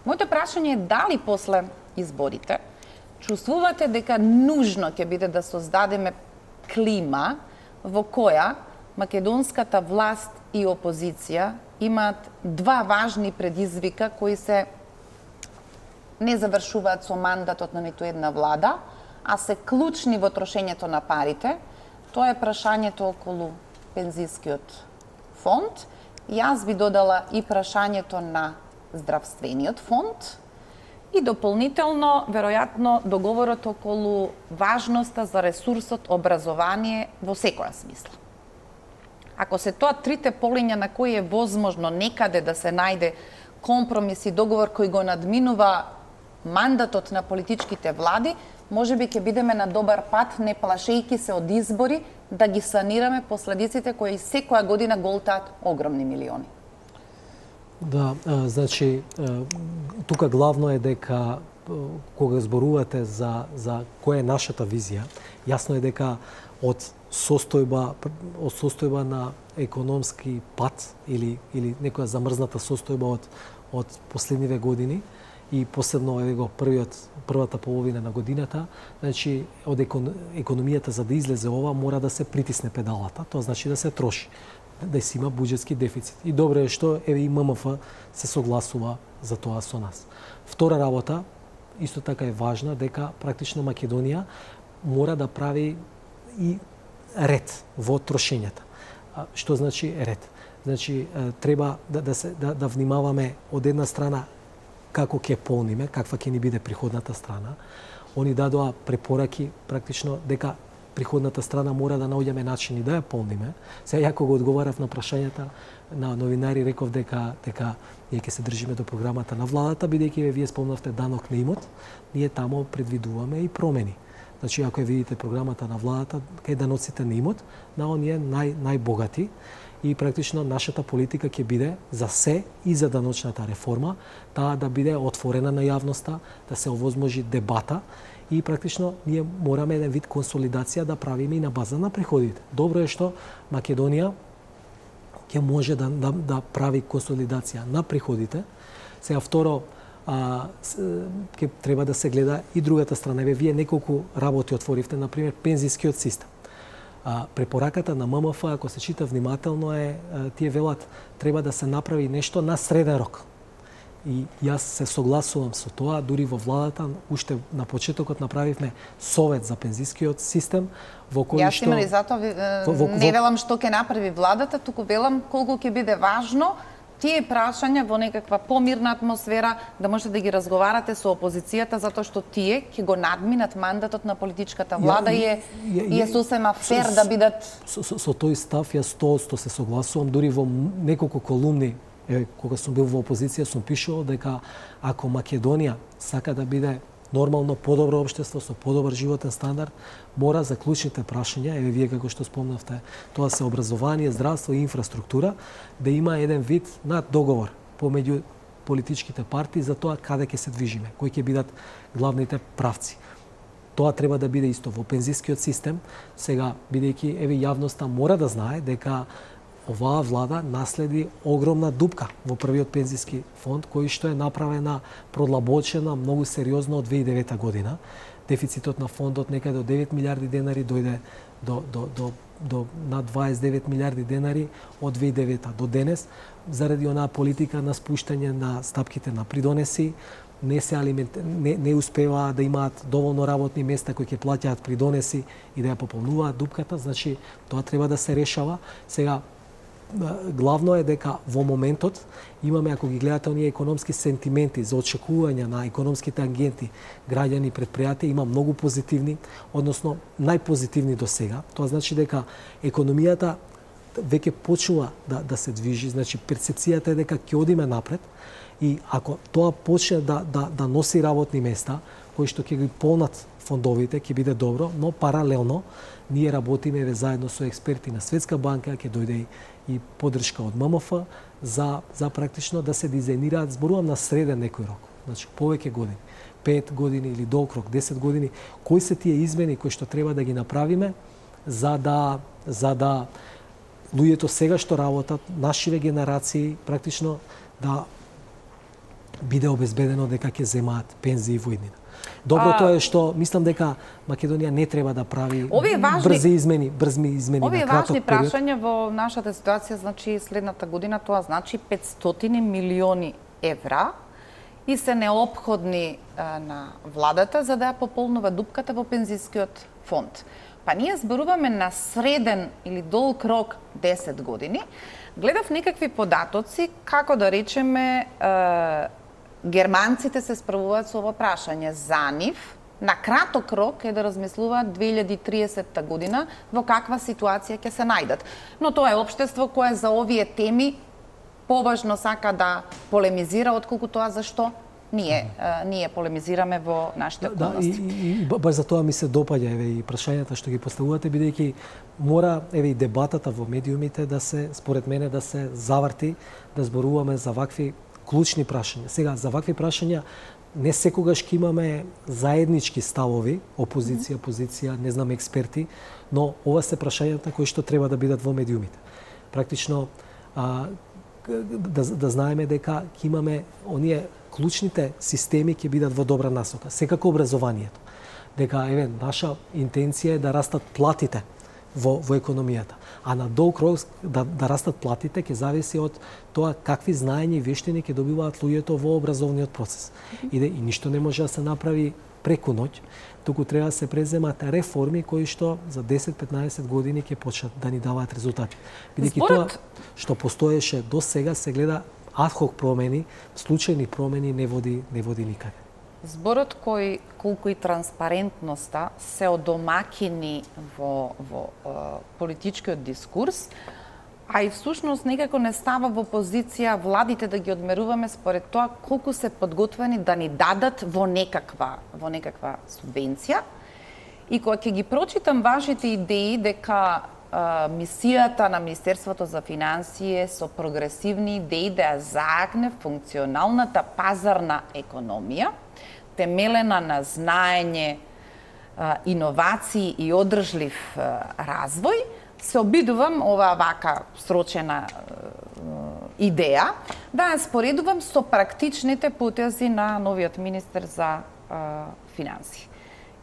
Моето прашање е дали после изборите чувствувате дека нужно ќе биде да создадеме клима во која македонската власт и опозиција имаат два важни предизвика кои се не завршуваат со мандатот на ниту една влада, а се клучни во трошењето на парите. Тоа е прашањето околу пензискиот фонд. Јас би додала и прашањето на здравствениот фонд и дополнително, веројатно, договорот околу важноста за ресурсот образование во секоја смисла. Ако се тоа трите полиња на кои е возможно некаде да се најде компромис и договор кој го надминува мандатот на политичките влади, може би ќе бидеме на добар пат, не плашејки се од избори, да ги санираме последиците кои секоја година голтаат огромни милиони. Да, значи, тука главно е дека кога зборувате за за која е нашата визија, јасно е дека од состојба од состојба на економски пат или или некоја замрзната состојба од од последниве години и посебно еве го првиот првата половина на годината, значи од екон, економијата за да излезе ова мора да се притисне педалата, тоа значи да се троши, да се има буџетски дефицит. И добро е што еве и ММФ се согласува за тоа со нас. Втора работа, исто така е важна, дека практично Македонија мора да прави и ред во трошењата. Што значи ред? Значи треба да да се да, да внимаваме од една страна како ќе полниме, каква ќе ни биде приходната страна. Они дадоа препораки практично дека приходната страна мора да наоѓаме начини да ја полниме. Сега јако го одговарав на прашањата на новинари, реков дека дека ние ќе се држиме до програмата на владата, бидејќи вие спомнавте данок на имот, ние тамо предвидуваме и промени. Значи, ако ја видите програмата на владата, кај даноците на имот, на оние нај, најбогати, и практично нашата политика ќе биде за се и за даночната реформа, таа да биде отворена на јавноста, да се овозможи дебата и практично ние мораме еден вид консолидација да правиме и на база на приходите. Добро е што Македонија ќе може да, да, да прави консолидација на приходите. Сега второ, а, ќе треба да се гледа и другата страна. Еве вие неколку работи отворивте, например пензискиот систем. А, препораката на М М Ф, ако се чита внимателно, е а, тие велат треба да се направи нешто на среден рок. И јас се согласувам со тоа, дури во владата, уште на почетокот направивме совет за пензискиот систем, во кој јас што... Јас имам и затоа во, во, не велам што ќе направи владата, туку велам колку ќе биде важно тие прашања во некаква помирна атмосфера да можете да ги разговарате со опозицијата, затоа што тие ќе го надминат мандатот на политичката влада и е, и е сосема фер да бидат... Со, со, со тој став јас сто одсто се согласувам, дури во неколку колумни, е, кога сум бил во опозиција, сум пишувал дека ако Македонија сака да биде нормално подобро општество со подобар животен стандард, мора за клучните прашања, еве вие како што спомнавте, тоа се образование, здравство и инфраструктура, да има еден вид над договор помеѓу политичките партии за тоа каде ќе се движиме, кои ќе бидат главните правци. Тоа треба да биде исто во пензискиот систем. Сега, бидејќи еве јавноста мора да знае дека оваа влада наследи огромна дупка во првиот пензиски фонд, кој што е направена, продлабочена многу сериозно од две илјади и девета година. Дефицитот на фондот некаде од девет милиарди денари дојде до, до, до, до над дваесет и девет милиарди денари од две илјади и девета до денес, заради онаа политика на спуштање на стапките на придонеси, не се алимент, не, не успеваа да имаат доволно работни места кои ќе плаќаат придонеси и да ја пополнуваат дупката, значи тоа треба да се решава. Сега главно е дека во моментот имаме, ако ги гледате оние економски сентименти за очекување на економските агенти, граѓани, предпријатија, има многу позитивни, односно најпозитивни до сега. Тоа значи дека економијата веќе почнува да, да се движи, значи перцепцијата е дека ќе одиме напред и ако тоа почне да, да, да носи работни места, кои што ќе ги полнат фондовите, ќе биде добро, но паралелно ние работиме заедно со експерти на Светска банка, ќе дојде и и поддршка од М М Ф за, за практично да се дизајнираат, зборувам на среден некој рок, значи повеќе години, пет години или долг рок, десет години, кои се тие измени кои што треба да ги направиме за да, за да луѓето сега што работат, нашиве генерации, практично да биде обезбедено дека ќе земаат пензии во иднина. Доброто е што мислам дека Македонија не треба да прави важни, брзи измени, брзми измени овие на краток важни период. прашања во нашата ситуација, значи следната година, тоа значи петстотини милиони евра и се неопходни а, на владата за да ја пополнува дупката во пензискиот фонд. Па ние зборуваме на среден или долг рок десет години. Гледав некакви податоци како да речеме а, германците се справуваат со ова прашање. За нив, на краток рок е да размислуваат две илјади и триесетта година во каква ситуација ќе се најдат. Но тоа е општество кое за овие теми поважно сака да полемизира, отколку тоа зашто ние, а, ние полемизираме во нашите околности. Да, и, и, и баш за тоа ми се допаѓа еве и прашањата што ги поставувате, бидејќи мора еве и дебатата во медиумите да се, според мене, да се заврти, да зборуваме за вакви клучни прашања. Сега, за вакви прашања не секогаш ќе имаме заеднички ставови, опозиција, позиција, не знам, експерти, но ова се прашањата кои што треба да бидат во медиумите. Практично, а, да, да знаеме дека ќе имаме оние клучните системи ќе бидат во добра насока. Секако образованието. Дека, еве, наша интенција е да растат платите во, во економијата. А на долг рок да, да растат платите ќе зависи од тоа какви знаења и вештини ќе добиваат луѓето во образовниот процес. И, да, и ништо не може да се направи преку ноќ, туку треба да се преземат реформи кои што за десет-петнаесет години ќе почнат да ни даваат резултати. Бидејќи Според... тоа што постоеше до сега се гледа адхок промени, случајни промени не води не води никаде. Зборот кој колку и транспарентноста се одомакини во во е, политичкиот дискурс, а и всушност некако не става во позиција владите да ги одмеруваме според тоа колку се подготвени да ни дадат во некаква во некаква субвенција. И кога ќе ги прочитам вашите идеи дека мисијата на Министерството за финансии со прогресивни идеи да ја заакне функционалната пазарна економија, темелена на знаење, иновации и одржлив развој, се обидувам ова вака срочена идеја да ја споредувам со практичните потези на новиот министер за финансии.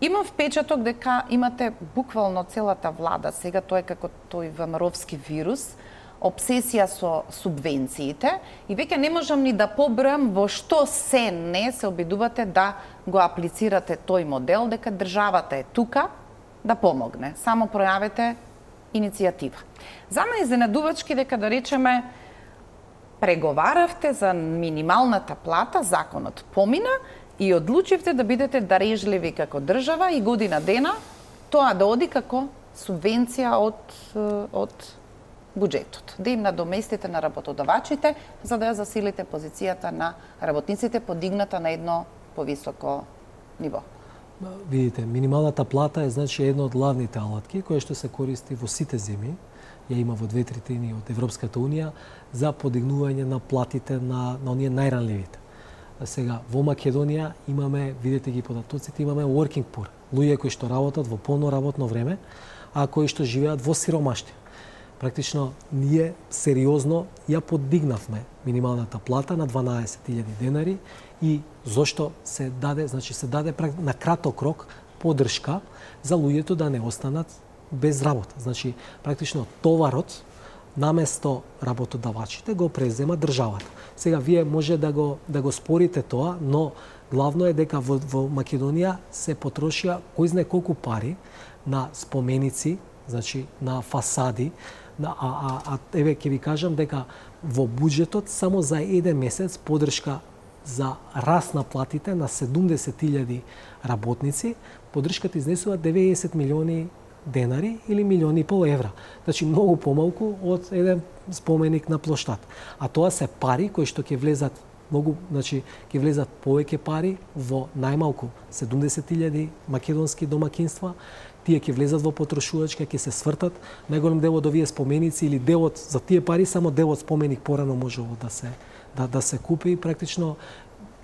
Имам впечаток дека имате буквално целата влада, сега тоа е како тој ВМРО-вски вирус, обсесија со субвенциите и веќе не можам ни да побројам во што се не се обидувате да го аплицирате тој модел, дека државата е тука да помогне. Само пројавете иницијатива. За мене изненадувачки дека да речеме преговаравте за минималната плата, законот помина и одлучивте да бидете дарежливи како држава и година дена тоа да оди како субвенција од од буџетот, да им надоместите на работодавачите за да ја засилите позицијата на работниците подигната на едно повисоко ниво. Видите, минималната плата е значи една од главните алатки која што се користи во сите земји, ја има во две третини од Европската унија за подигнување на платите на на оние најранливите. Сега во Македонија имаме, видите ги податоците, имаме working poor, луѓе кои што работат во полно работно време, а кои што живеат во сиромаштија. Практично ние сериозно ја подигнавме минималната плата на дванаесет илјади денари и зошто се даде, значи се даде на краток рок поддршка за луѓето да не останат без работа. Значи практично товарот наместо работодавачите го презема државата. Сега вие може да го да го спорите тоа, но главно е дека во, во Македонија се потрошија кој знае колку пари на споменици, значи на фасади, на, а, а, а еве ќе ви кажам дека во буџетот само за еден месец поддршка за раст на платите на седумдесет илјади работници, поддршката изнесува деветдесет милиони денари или милиони и пол евра. Значи многу помалку од еден споменик на плоштад. А тоа се пари кои што ќе влезат многу, значи ќе влезат повеќе пари во најмалку седумдесет илјади македонски домакинства, тие ќе влезат во потрошувачка, ќе се свртат, најголем дел од овие споменици или делот за тие пари само делот споменик порано можело да се да да се купи и практично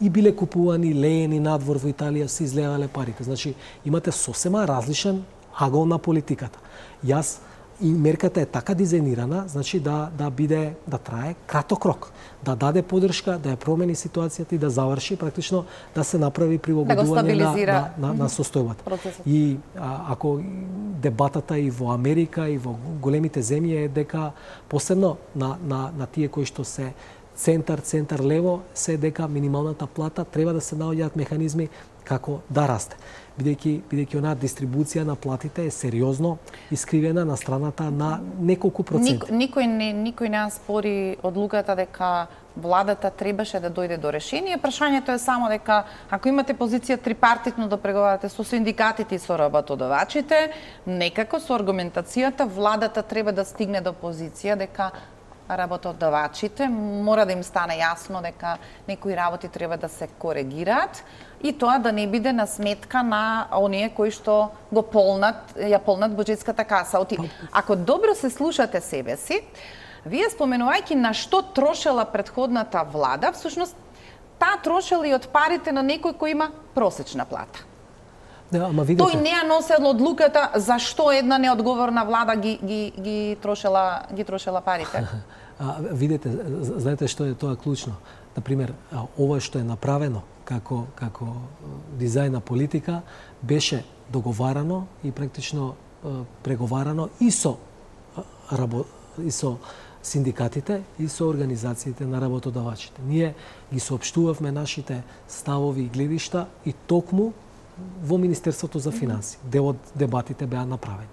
и биле купувани леени надвор во Италија се излегале парите. Значи имате сосема различен агол на политиката. Јас и мерката е така дизајнирана, значи да да биде да трае краток рок, да даде поддршка, да ја промени ситуацијата и да заврши практично да се направи прилагодување да на, на, на, на состојбата. И а, ако дебатата и во Америка и во големите земји е дека посебно на на на тие кои што се центар, центар лево, се дека минималната плата треба да се наоѓаат механизми како да расте. Бидејќи бидејќи онаа дистрибуција на платите е сериозно искривена на страната на неколку проценти. Ник, никој не никој не спори одлуката дека владата требаше да дојде до решение. Прашањето е само дека ако имате позиција трипартитно да преговарате со синдикатите и со работодавачите, некако со аргументацијата владата треба да стигне до позиција дека работодавачите мора да им стане јасно дека некои работи треба да се коригираат и тоа да не биде на сметка на оние кои што го полнат, ја полнат буџетската каса. Оти, ако добро се слушате себе си, вие споменувајќи на што трошела претходната влада, всушност таа трошела и од парите на некој кој има просечна плата. Да, ама видите. Тој не ја носел одлуката зашто една неодговорна влада ги ги ги трошела ги трошела парите. А, видите, знаете што е тоа клучно. Например, ова што е направено како како дизајн на политика беше договарано и практично преговарано и со рабо, и со синдикатите и со организациите на работодавачите. Ние ги соопштувавме нашите ставови и гледишта и токму во Министерството за финансии. Дел од дебатите беа направени.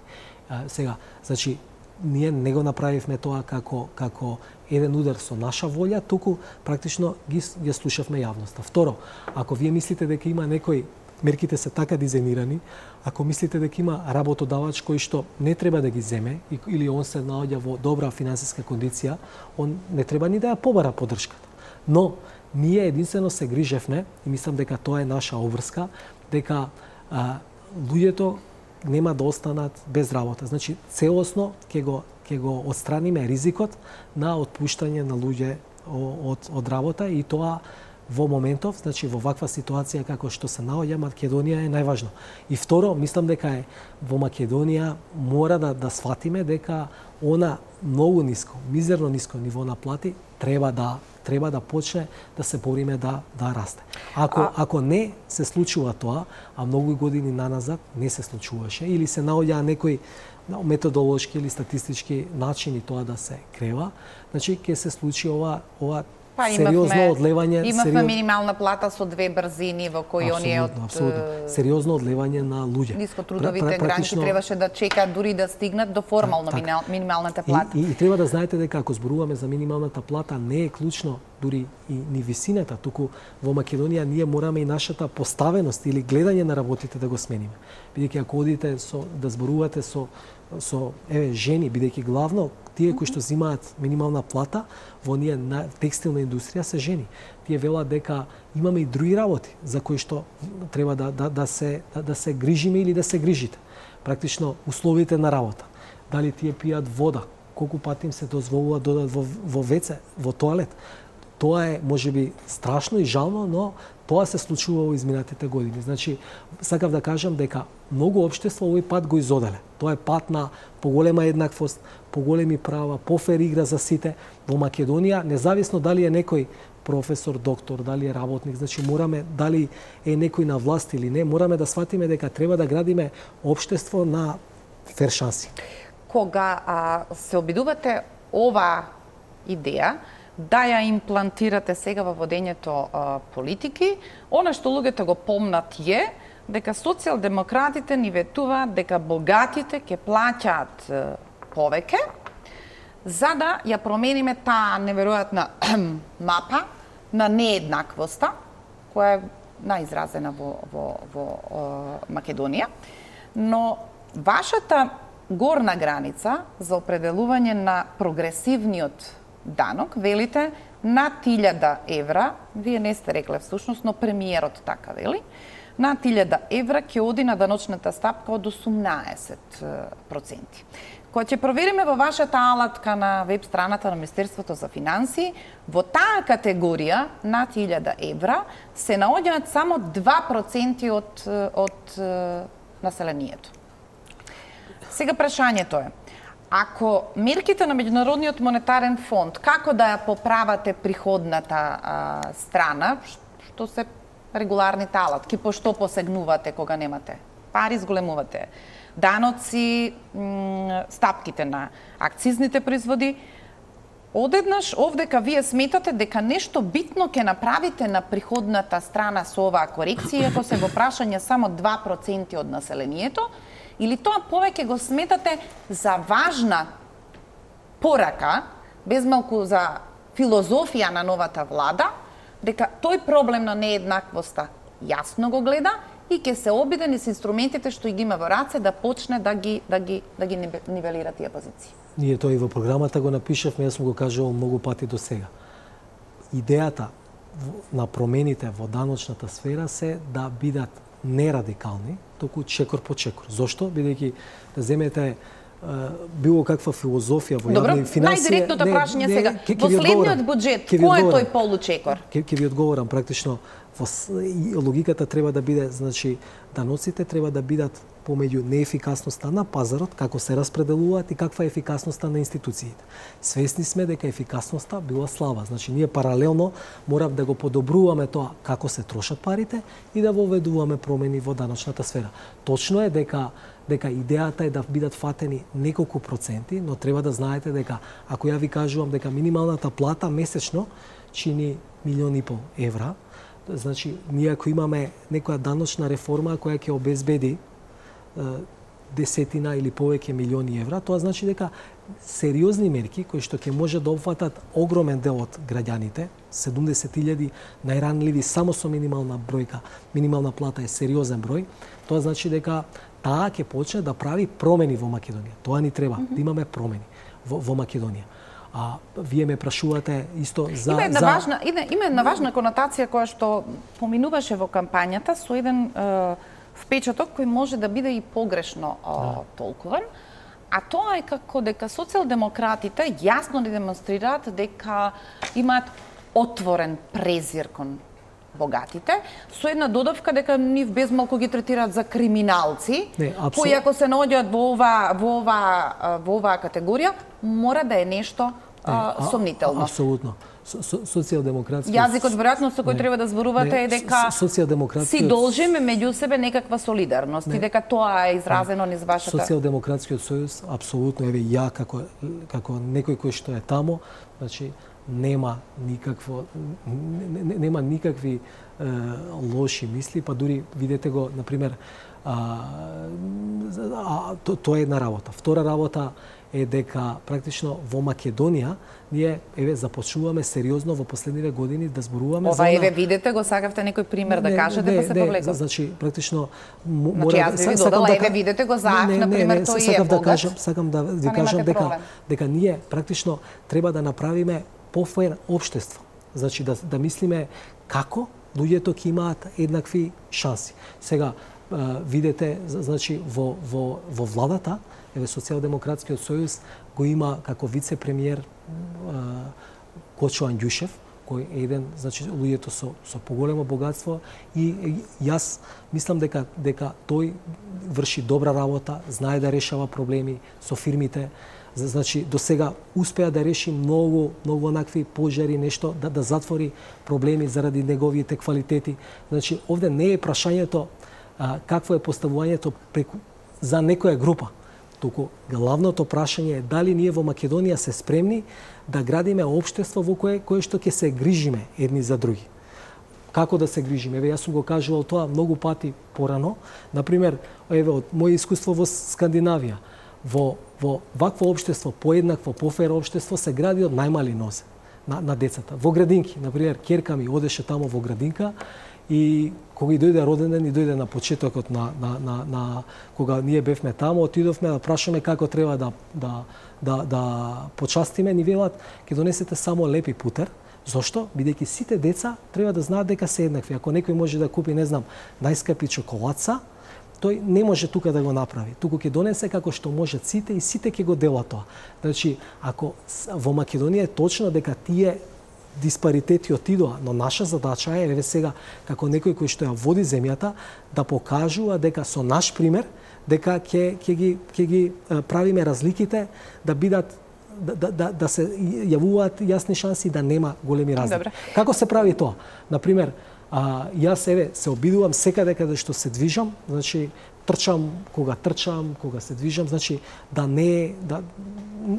А, сега, значи, ние не го направивме тоа како како еден удар со наша волја, туку практично ги ја слушавме јавноста. Второ, ако вие мислите дека има некој мерките се така дизајнирани, ако мислите дека има работодавач кој што не треба да ги земе или он се наоѓа во добра финансиска кондиција, он не треба ни да ја побара поддршката. Но ние единствено се грижевме и мислам дека тоа е наша обврска, дека а, луѓето нема да останат без работа. Значи целосно ќе го ќе го отстраниме ризикот на отпуштање на луѓе од од работа и тоа во моментов, значи во ваква ситуација како што се наоѓа Македонија е најважно. И второ, мислам дека е во Македонија мора да да сватиме дека она многу ниско, мизерно ниско ниво на плати треба да треба да почне да се бориме да да расте. Ако а... ако не се случува тоа, а многу години наназад не се случуваше или се наоѓа некои методолошки или статистички начини тоа да се крева, значи ќе се случи ова ова Па, сериозно имавме, одлевање, имавме сериоз... минимална плата со две брзини во кои оние од апсолутно сериозно одлевање на луѓе. Нискотрудовите граници требаше да чекаат дури да стигнат до формално так, так. минималната плата. И, и, и треба да знаете дека ако зборуваме за минималната плата не е клучно дури и ни висината, туку во Македонија ние мораме и нашата поставеност или гледање на работите да го смениме. Бидејќи ако одите со да зборувате со со еве жени, бидејќи главно тие кои што земаат минимална плата во ние на текстилна индустрија се жени. Тие велат дека имаме и други работи за кои што треба да да да се да, да се грижиме или да се грижите. Практично условите на работа. Дали тие пијат вода, колку пати им се дозволува да додат во во веце, во тоалет. Тоа е можеби страшно и жално, но тоа се случува во изминатите години. Значи, сакав да кажам дека многу општества овој пат го изоделе. Тоа е пат на поголема еднаквост, поголеми права, пофер игра за сите. Во Македонија, независно дали е некој професор, доктор, дали е работник, значи мораме, дали е некој на власт или не, мораме да сватиме дека треба да градиме општество на фер шанси. Кога а, се обидувате ова идеја, да ја имплантирате сега во водењето а, политики, она што луѓето го помнат е дека социјалдемократите ни ветуваат дека богатите ќе плаќаат повеќе за да ја промениме таа неверојатна мапа на нееднаквоста која е најизразена во во во а, Македонија, но вашата горна граница за определување на прогресивниот данок, велите, над илјада евра, вие не сте рекле всушност, но премиерот така вели, над илјада евра ќе оди на даночната стапка од осумнаесет проценти. Кога ќе провериме во вашата алатка на веб страната на Министерството за финансии, во таа категорија над илјада евра се наоѓаат само два проценти од, од населението. Сега прашањето е, ако мерките на Меѓународниот монетарен фонд, како да ја поправате приходната а, страна, што се регуларните алатки, по што посегнувате кога немате пари, зголемувате даноци, стапките на акцизните производи, одеднаш овдека вие сметате дека нешто битно ќе направите на приходната страна со оваа корекција, ако се во прашање само два проценти од населението, или тоа повеќе го сметате за важна порака, без малку за филозофија на новата влада, дека тој проблем на нееднаквоста јасно го гледа и ќе се обиде низ инструментите што ги има во раце да почне да ги да ги да ги нивелира тие позиции. Ние тоа и во програмата го напишавме, јас сум го кажувал многу пати до сега. Идејата на промените во даночната сфера се да бидат не радикални, току чекор по чекор. Зошто? Бидејќи да земете било каква филозофија во јавни финансии. Најдиректното прашање сега. Во следниот буџет, кој е тој получекор? Ќе ќе ви одговорам практично. Во логиката треба да биде, значи, даноците треба да бидат помеѓу неефикасноста на пазарот, како се распределуваат и каква е ефикасноста на институциите. Свесни сме дека ефикасноста била слаба. Значи, ние паралелно морав да го подобруваме тоа како се трошат парите и да воведуваме промени во даночната сфера. Точно е дека дека идејата е да бидат фатени неколку проценти, но треба да знаете дека ако ја ви кажувам дека минималната плата месечно чини милион и пол евра, значи ние ако имаме некоја даночна реформа која ќе обезбеди десетина или повеќе милиони евра, тоа значи дека сериозни мерки кои што ќе може да опфатат огромен дел од граѓаните, седумдесет илјади најранливи само со минимална бројка, минимална плата е сериозен број, тоа значи дека таа ќе почне да прави промени во Македонија. Тоа ни треба, mm -hmm. да имаме промени во, во Македонија. А вие ме прашувате исто за има една за... важна има една важна конотација која што поминуваше во кампањата со еден е, впечаток кој може да биде и погрешно а, толкуван, а тоа е како дека социјалдемократите јасно ни демонстрираат дека имаат отворен презир кон богатите, со една додавка дека нив безмалку ги третираат за криминалци, не, абсол... кои ако се наоѓаат во ова во ова во оваа категорија, мора да е нешто не, а, сомнително. Апсолутно. Социјалдемократски јазикот веројатно со кој не, треба да зборувате не, е дека си должиме меѓу себе некаква солидарност не, и дека тоа е изразено низ вашата. Социјалдемократскиот сојуз апсолутно, еве ја како како некој кој што е таму, значи нема никакво нема никакви е, лоши мисли, па дури видете го на пример а, а, то, тоа е една работа. Втора работа е дека практично во Македонија ние еве започнуваме сериозно во последниве години да зборуваме Ова, за Ова еве видите го, сакавте некој пример не, да кажете не, па се повлекам. Значи практично значи, јас ви додала да, еве видите го за на пример тој е да кажам, сакам да ви кажам дека проблем. дека ние практично треба да направиме пофајн општество. Значи да да мислиме како луѓето ќе имаат еднакви шанси. Сега видите значи во во во владата еве Социјалдемократскиот сојуз го има како вице-премиер Кочо Андјушев, кој е еден, значи луѓето со со поголемо богатство и јас мислам дека дека тој врши добра работа, знае да решава проблеми со фирмите. Значи до сега успеа да реши многу многу онакви пожари, нешто да да затвори проблеми заради неговите квалитети. Значи овде не е прашањето а, какво е поставувањето преку за некоја група. Туку главното прашање е дали ние во Македонија се спремни да градиме општество во кое кое што ќе се грижиме едни за други. Како да се грижиме? Еве јас сум го кажувал тоа многу пати порано. На пример, еве од моје искуство во Скандинавија, во во вакво општество, поеднакво, пофер општество се гради од најмали нозе на, на децата. Во градинки, на пример, ќерка ми одеше таму во градинка и кога и дојде роден ден, и дојде на почетокот на, на, на, на кога ние бевме таму, отидовме да прашаме како треба да, да, да, да почастиме, ни велат ќе донесете само лепи путер. Зошто? Бидејќи сите деца треба да знаат дека се еднакви. Ако некој може да купи, не знам, најскапи чоколадца, тој не може тука да го направи. Туку ќе донесе како што можат сите и сите ќе го делат тоа. Значи, ако во Македонија е точно дека тие диспаритети отидоа, но наша задача е еве сега како некој кој што ја води земјата да покажува дека со наш пример дека ќе ќе ги ќе ги правиме разликите да бидат да да да, да се јавуваат јасни шанси да нема големи разлики. Добре. Како се прави тоа? На пример, а, јас еве се обидувам секаде каде што се движам, значи трчам кога трчам, кога се движам, значи да не да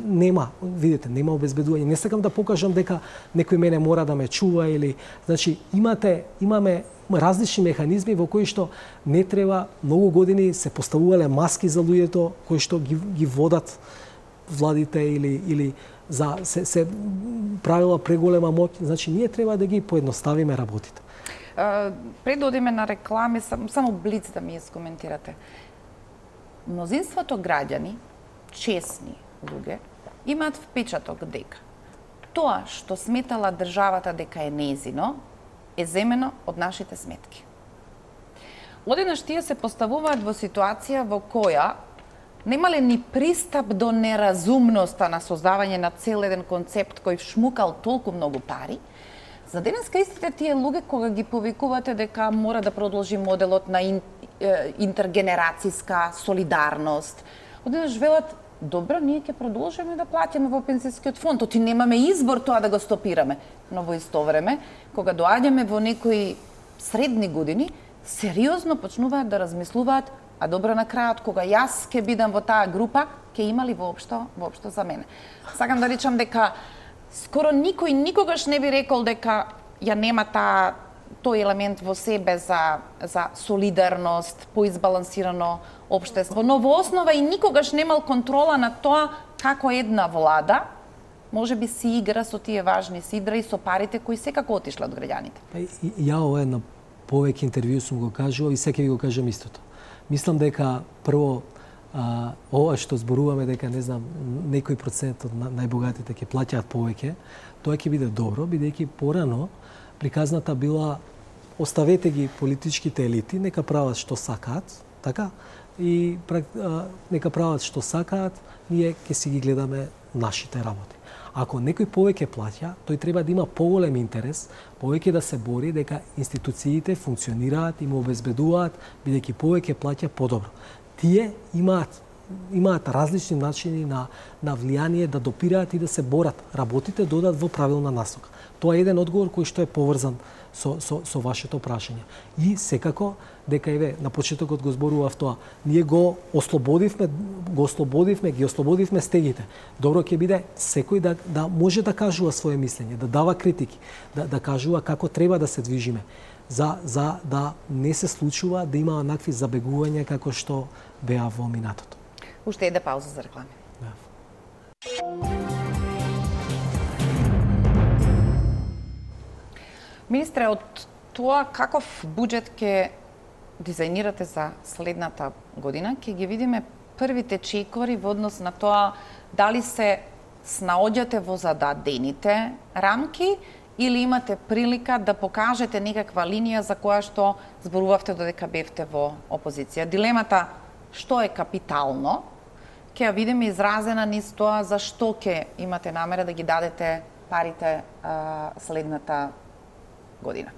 нема, видите, нема обезбедување. Не сакам да покажам дека некој мене мора да ме чува или значи имате имаме различни механизми во кои што не треба многу години се поставувале маски за луѓето кои што ги ги водат владите или или за се се правила преголема моќ, значи ние треба да ги поедноставиме работите. Пред да одиме на реклами, сам, само блиц да ми искоментирате. Мнозинството граѓани, честни луѓе, имаат впечаток дека тоа што сметала државата дека е нејзино, е земено од нашите сметки. Одеднаш тие се поставуваат во ситуација во која немале ни пристап до неразумноста на создавање на цел еден концепт кој шмукал толку многу пари. За денеска истите тие луѓе кога ги повикувате дека мора да продолжи моделот на ин, е, интергенерацијска солидарност, одеднаш велат добро, ние ќе продолжиме да плаќаме во пензискиот фонд, оти немаме избор тоа да го стопираме. Но во исто време, кога доаѓаме во некои средни години, сериозно почнуваат да размислуваат, а добро на крајот кога јас ќе бидам во таа група, ќе има ли воопшто воопшто за мене. Сакам да речам дека скоро никој никогаш не би рекол дека ја нема таа тој елемент во себе за за солидарност, поизбалансирано општество, но во основа и никогаш немал контрола на тоа како една влада може би си игра со тие важни си игра и со парите кои секако отишла од граѓаните. Ја ова една повеќе интервју сум го кажувал и сега ви го кажам истото. Мислам дека прво а, ова што зборуваме дека не знам некој процент од најбогатите ќе плаќаат повеќе, тоа ќе биде добро, бидејќи порано приказната била оставете ги политичките елити, нека прават што сакаат, така? И а, нека прават што сакаат, ние ќе си ги гледаме нашите работи. Ако некој повеќе плаќа, тој треба да има поголем интерес, повеќе да се бори дека институциите функционираат и му обезбедуваат, бидејќи повеќе плаќа подобро. Тие имаат имаат различни начини на на влијание да допираат и да се борат. Работите додат во правилна насока. Тоа е еден одговор кој што е поврзан со со со вашето прашање. И секако дека еве на почетокот го зборував тоа, ние го ослободивме, го ослободивме, ги ослободивме стегите. Добро ќе биде секој да да може да кажува свое мислење, да дава критики, да да кажува како треба да се движиме. За за да не се случува да има онакви забегувања како што беа во минатото. Уште една пауза за реклами. Да. Министре, од тоа каков буџет ќе дизајнирате за следната година, ќе ги видиме првите чекори во однос на тоа дали се снаоѓате во зададените рамки или имате прилика да покажете некаква линија за која што зборувавте додека бевте во опозиција. Дилемата што е капитално, ќе ја видиме изразена низ тоа за што ќе имате намера да ги дадете парите а, следната година.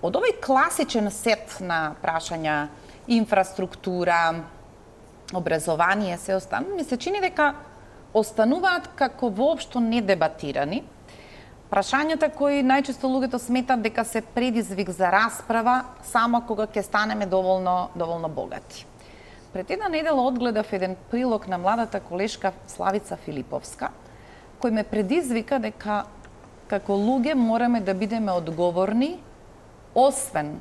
Од овој класичен сет на прашања инфраструктура, образование, се останува, ми се чини дека остануваат како воопшто недебатирани прашањата кои најчесто луѓето сметат дека се предизвик за расправа само кога ќе станеме доволно доволно богати. Пред една недела одгледав еден прилог на младата колешка Славица Филиповска, кој ме предизвика дека како луѓе мораме да бидеме одговорни освен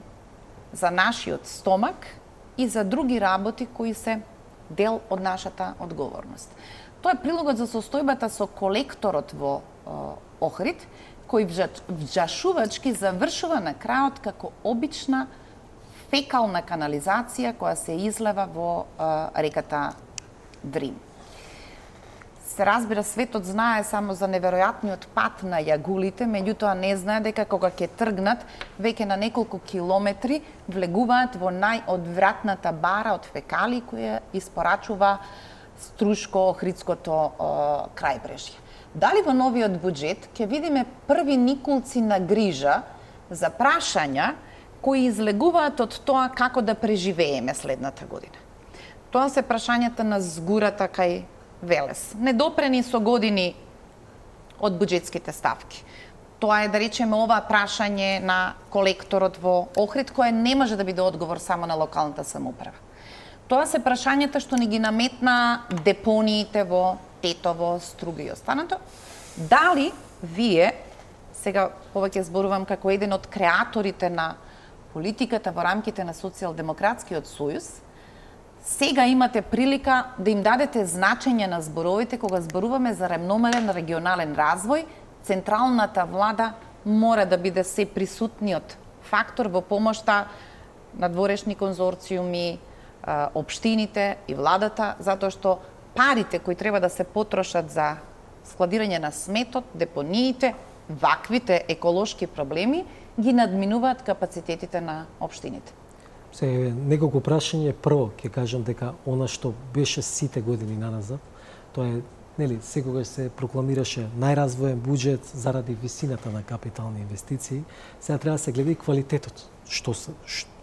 за нашиот стомак и за други работи кои се дел од нашата одговорност. Тоа е прилогот за состојбата со колекторот во Охрид, кој вџашувачки завршува на крајот како обична фекална канализација која се излева во а, реката Дрим. Се разбира, светот знае само за неверојатниот пат на јагулите, меѓутоа не знае дека кога ќе тргнат, веќе на неколку километри влегуваат во најодвратната бара од фекали која испорачува Струшко Охридското крајбрежје. Дали во новиот буџет ќе видиме први никулци на грижа за прашања кои излегуваат од тоа како да преживееме следната година? Тоа се прашањата на згурата кај Велес, недопрени со години од буџетските ставки. Тоа е, да речеме, ова прашање на колекторот во Охрид, кое не може да биде одговор само на локалната самоуправа. Тоа се прашањата што ни ги наметна депониите во Тетово, Струга и останато. Дали вие, сега повеќе зборувам како еден од креаторите на политиката во рамките на Социјалдемократскиот сојуз, сега имате прилика да им дадете значење на зборовите кога зборуваме за рамномерен регионален развој, централната влада мора да биде се присутниот фактор во помошта на дворешни конзорциуми, општините и владата, затоа што парите кои треба да се потрошат за складирање на сметот, депониите, ваквите еколошки проблеми ги надминуваат капацитетите на општините. Се неколку прашање. Прво ќе кажам дека она што беше сите години наназад, тоа е, нели, секогаш се прокламираше најразвоен буџет заради висината на капитални инвестиции. Сега треба да се гледа и квалитетот. Што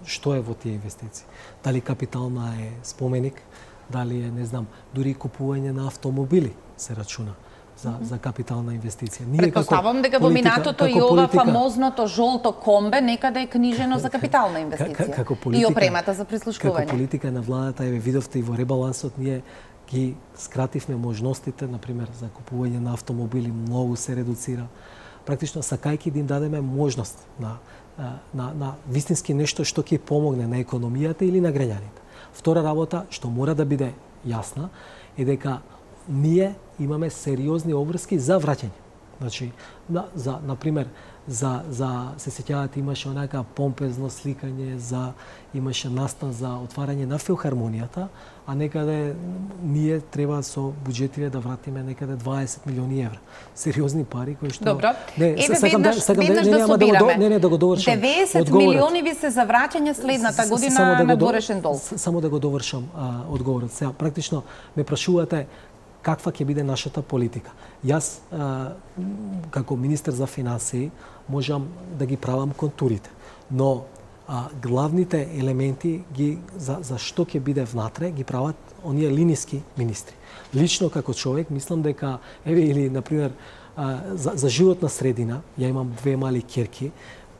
што е во тие инвестиции? Дали капитална е споменик, дали е, не знам, дури купување на автомобили се рачуна за за капитална инвестиција. Ние Предпоставам дека во минатото и ова политика, фамозното жолто комбе некаде е книжено за капитална инвестиција. Како политика, и опремата за прислушкување. Како политика на владата, еве видовте и во ребалансот, ние ги скративме можностите, например, за купување на автомобили, многу се редуцира. Практично сакајќи да им дадеме можност на на на вистински нешто што ќе помогне на економијата или на граѓаните. Втора работа што мора да биде јасна е дека ние имаме сериозни обврски за враќање. Значи, на, за, например, за, за се сеќавате, имаше онака помпезно сликање, за, имаше настан за отварање на филхармонијата, а некаде ние треба со буџетиве да вратиме некаде дваесет милиони евра. Сериозни пари кои што Добро. Не, Еве сакам веднаш, да сакам веднаш да, да, не, да да, собираме. го, не, не, да го довршам. деветдесет милиони ви се за враќање следната година да на до, дорешен долг. Само да го довршам а, одговорот. Сега практично ме прашувате каква ќе биде нашата политика. Јас, а, како министер за финансии, можам да ги правам контурите, но а, главните елементи ги за, за што ќе биде внатре ги прават оние линиски министри. Лично како човек мислам дека еве или на пример а, за, за животна средина, ја имам две мали ќерки,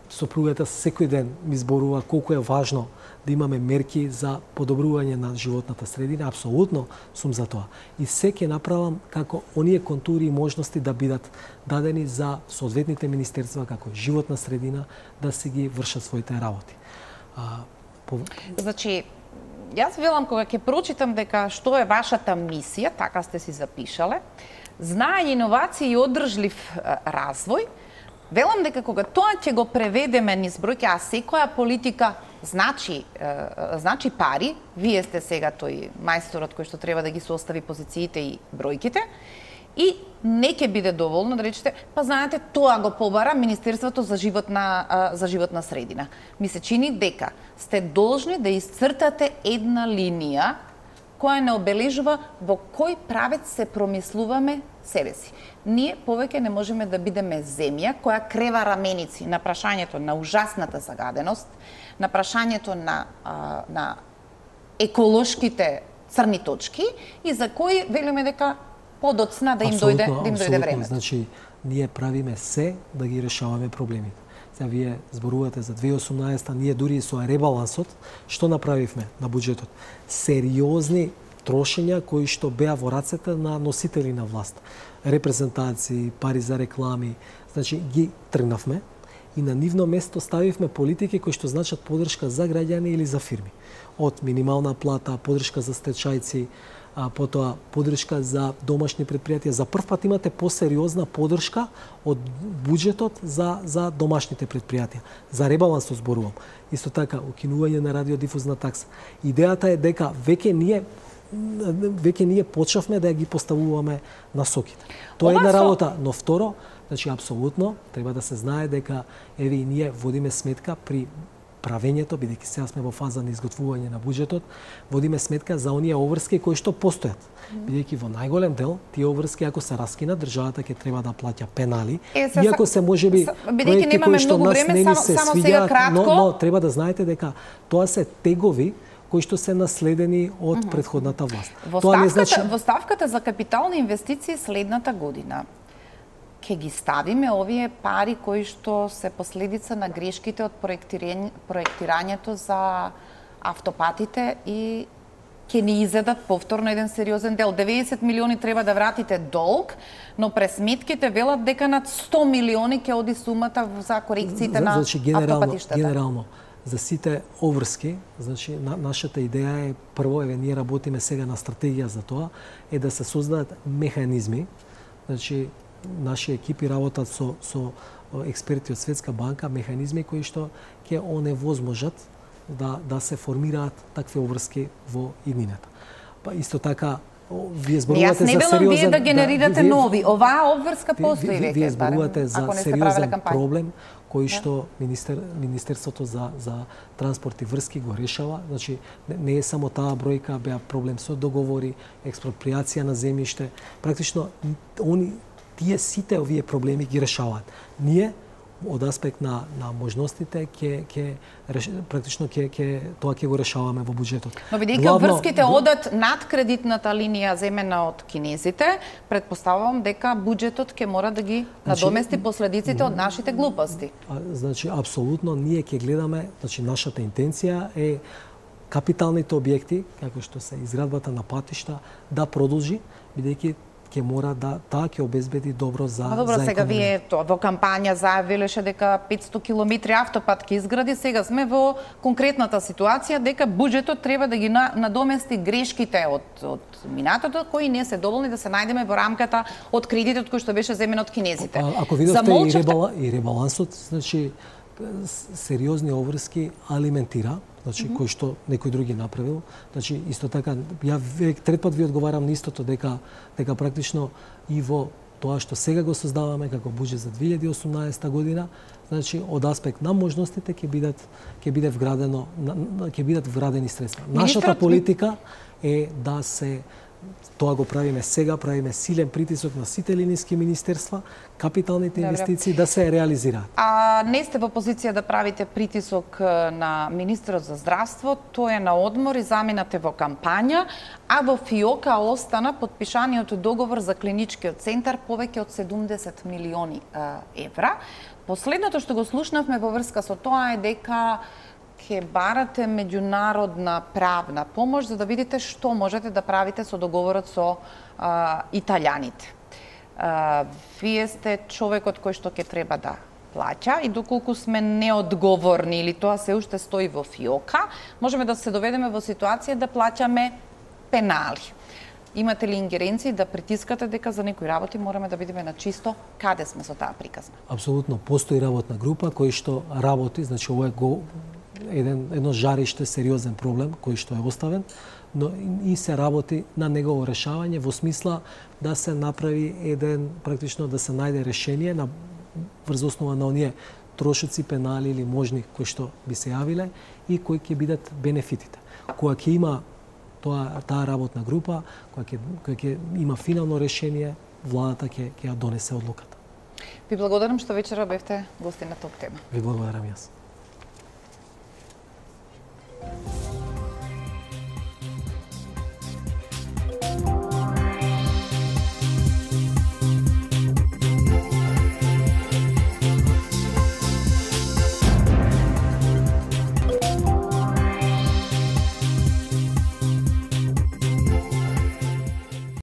сопругата секој ден ми зборува колку е важно да имаме мерки за подобрување на животната средина, апсолутно сум за тоа. И се ќе направам како оние контури и можности да бидат дадени за соодветните министерства како животна средина да се ги вршат своите работи. А, по... Значи, јас велам кога ќе прочитам дека што е вашата мисија, така сте си запишале, знае иновации и одржлив развој, велам дека кога тоа ќе го преведеме низ бројки, а секоја политика значи значи пари, вие сте сега тој мајсторот кој што треба да ги состави позициите и бројките, и не ќе биде доволно да речете, па знаете, тоа го побара Министерството за животна за животна средина. Ми се чини дека сте должни да исцртате една линија која не обележува во кој правец се промислуваме себе си. Ние повеќе не можеме да бидеме земја која крева раменици на прашањето на ужасната загаденост, на прашањето на, а, на еколошките црни точки и за кои велиме дека подоцна да им дојде да им дојде времето. Значи, ние правиме се да ги решаваме проблемите. Сега вие зборувате за две илјади и осумнаесета, ние дури со ребалансот, што направивме на буџетот? Сериозни трошења кои што беа во рацете на носители на власт. Репрезентации, пари за реклами, значи ги тргнавме и на нивно место ставивме политики кои што значат поддршка за граѓани или за фирми. Од минимална плата, поддршка за стечајци, а потоа поддршка за домашни предпријатија. За прв пат имате посериозна поддршка од буџетот за за домашните предпријатија. За ребалансот зборувам. Исто така укинување на радиодифузна такса. Идејата е дека веќе ние веќе ние почнавме да ја ги поставуваме насоките. Тоа е една работа, но второ, значи апсолутно треба да се знае дека еве и ние водиме сметка при правењето, бидејќи сега сме во фаза на изготвување на буџетот, водиме сметка за оние обврски кои што постојат. Бидејќи во најголем дел тие обврски ако се раскинат, државата ќе треба да плаќа пенали. Е, са, иако се можеби проекти кои што нас не ни се свиѓаат, но, но треба да знаете дека тоа се тегови кои што се наследени од uh -huh. претходната власт. Во Тоа ставката, не значи... во ставката за капитални инвестиции следната година ќе ги ставиме овие пари кои што се последица на грешките од проектирање, проектирањето за автопатите и ќе ни изедат повторно еден сериозен дел. деветдесет милиони треба да вратите долг, но през сметките велат дека над сто милиони ќе оди сумата за корекциите на значи, генерално, автопатиштата. Генерално, за сите обврски, значи на, нашата идеја е прво, еве ние работиме сега на стратегија за тоа, е да се создадат механизми, значи наши екипи работат со со експерти од Светска банка, механизми кои што ќе оневозможат да да се формираат такви обврски во иднината. Па исто така вие зборувате за сериозен... Јас не вие да генерирате да, вие, нови. Оваа обврска постои веќе. Вие зборувате за сериозен проблем кој што да. министер, Министерството за, за транспорт и врски го решава. Значи, не, не е само таа бројка, беа проблем со договори, експроприација на земјиште. Практично, они, тие сите овие проблеми ги решаваат. Ние, од аспект на, на можностите, ќе, ќе, практично ќе, ќе, тоа ќе го решаваме во буџетот. Но бидејќи обврските одат над кредитната линија земена од кинезите, предпоставувам дека буџетот ќе мора да ги надомести значи, последиците од нашите глупости. Значи, апсолутно, ние ќе гледаме, значи, нашата интенција е капиталните објекти, како што се изградбата на патишта, да продолжи, бидејќи ќе мора да таа ќе обезбеди добро за А добро, за сега економија. вие то, во кампања заявилеше дека петсто километри автопат ќе изгради, сега сме во конкретната ситуација дека буџетот треба да ги надомести грешките од од минатото кои не се доволни да се најдеме во рамката од кредитот кој што беше земен од кинезите. А, ако видовте и, ребала, и ребалансот, значи сериозни обврски алиментира, значи mm -hmm. кој што некој други направил. Значи исто така ја век трет пат ви одговарам на истото дека дека практично и во тоа што сега го создаваме како буџет за две илјади и осумнаесета година, значи од аспект на можностите ќе бидат ќе биде вградено ќе бидат вградени средства. Министрот... Нашата политика е да се тоа го правиме сега, правиме силен притисок на сите линijски министерства, капиталните инвестиции да се реализираат. А не сте во позиција да правите притисок на министерот за здравство, тој е на одмор и заминате во кампања, а во ФИОКа остана подпишаниот договор за клиничкиот центар повеќе од седумдесет милиони евра. Последното што го слушнавме во врска со тоа е дека ќе барате меѓународна правна помош за да видите што можете да правите со договорот со а, италијаните. А, вие сте човекот кој што ќе треба да плаќа и доколку сме неодговорни или тоа се уште стои во ФИОКа, можеме да се доведеме во ситуација да плаќаме пенали. Имате ли ингеренции да притискате дека за некои работи мораме да бидеме на чисто каде сме со таа приказна? Апсолутно, постои работна група кој што работи, значи ова е го еден едно жариште, сериозен проблем кој што е оставен, но и се работи на негово решавање во смисла да се направи еден практично да се најде решение на врз основа на оние трошоци, пенали или можни кои што би се јавиле и кои ќе бидат бенефитите. Кога ќе има тоа таа работна група, кога ќе кога ќе има финално решение, владата ќе ќе ја донесе одлуката. Ви благодарам што вечера бевте гости на Топ тема. Ви благодарам јас.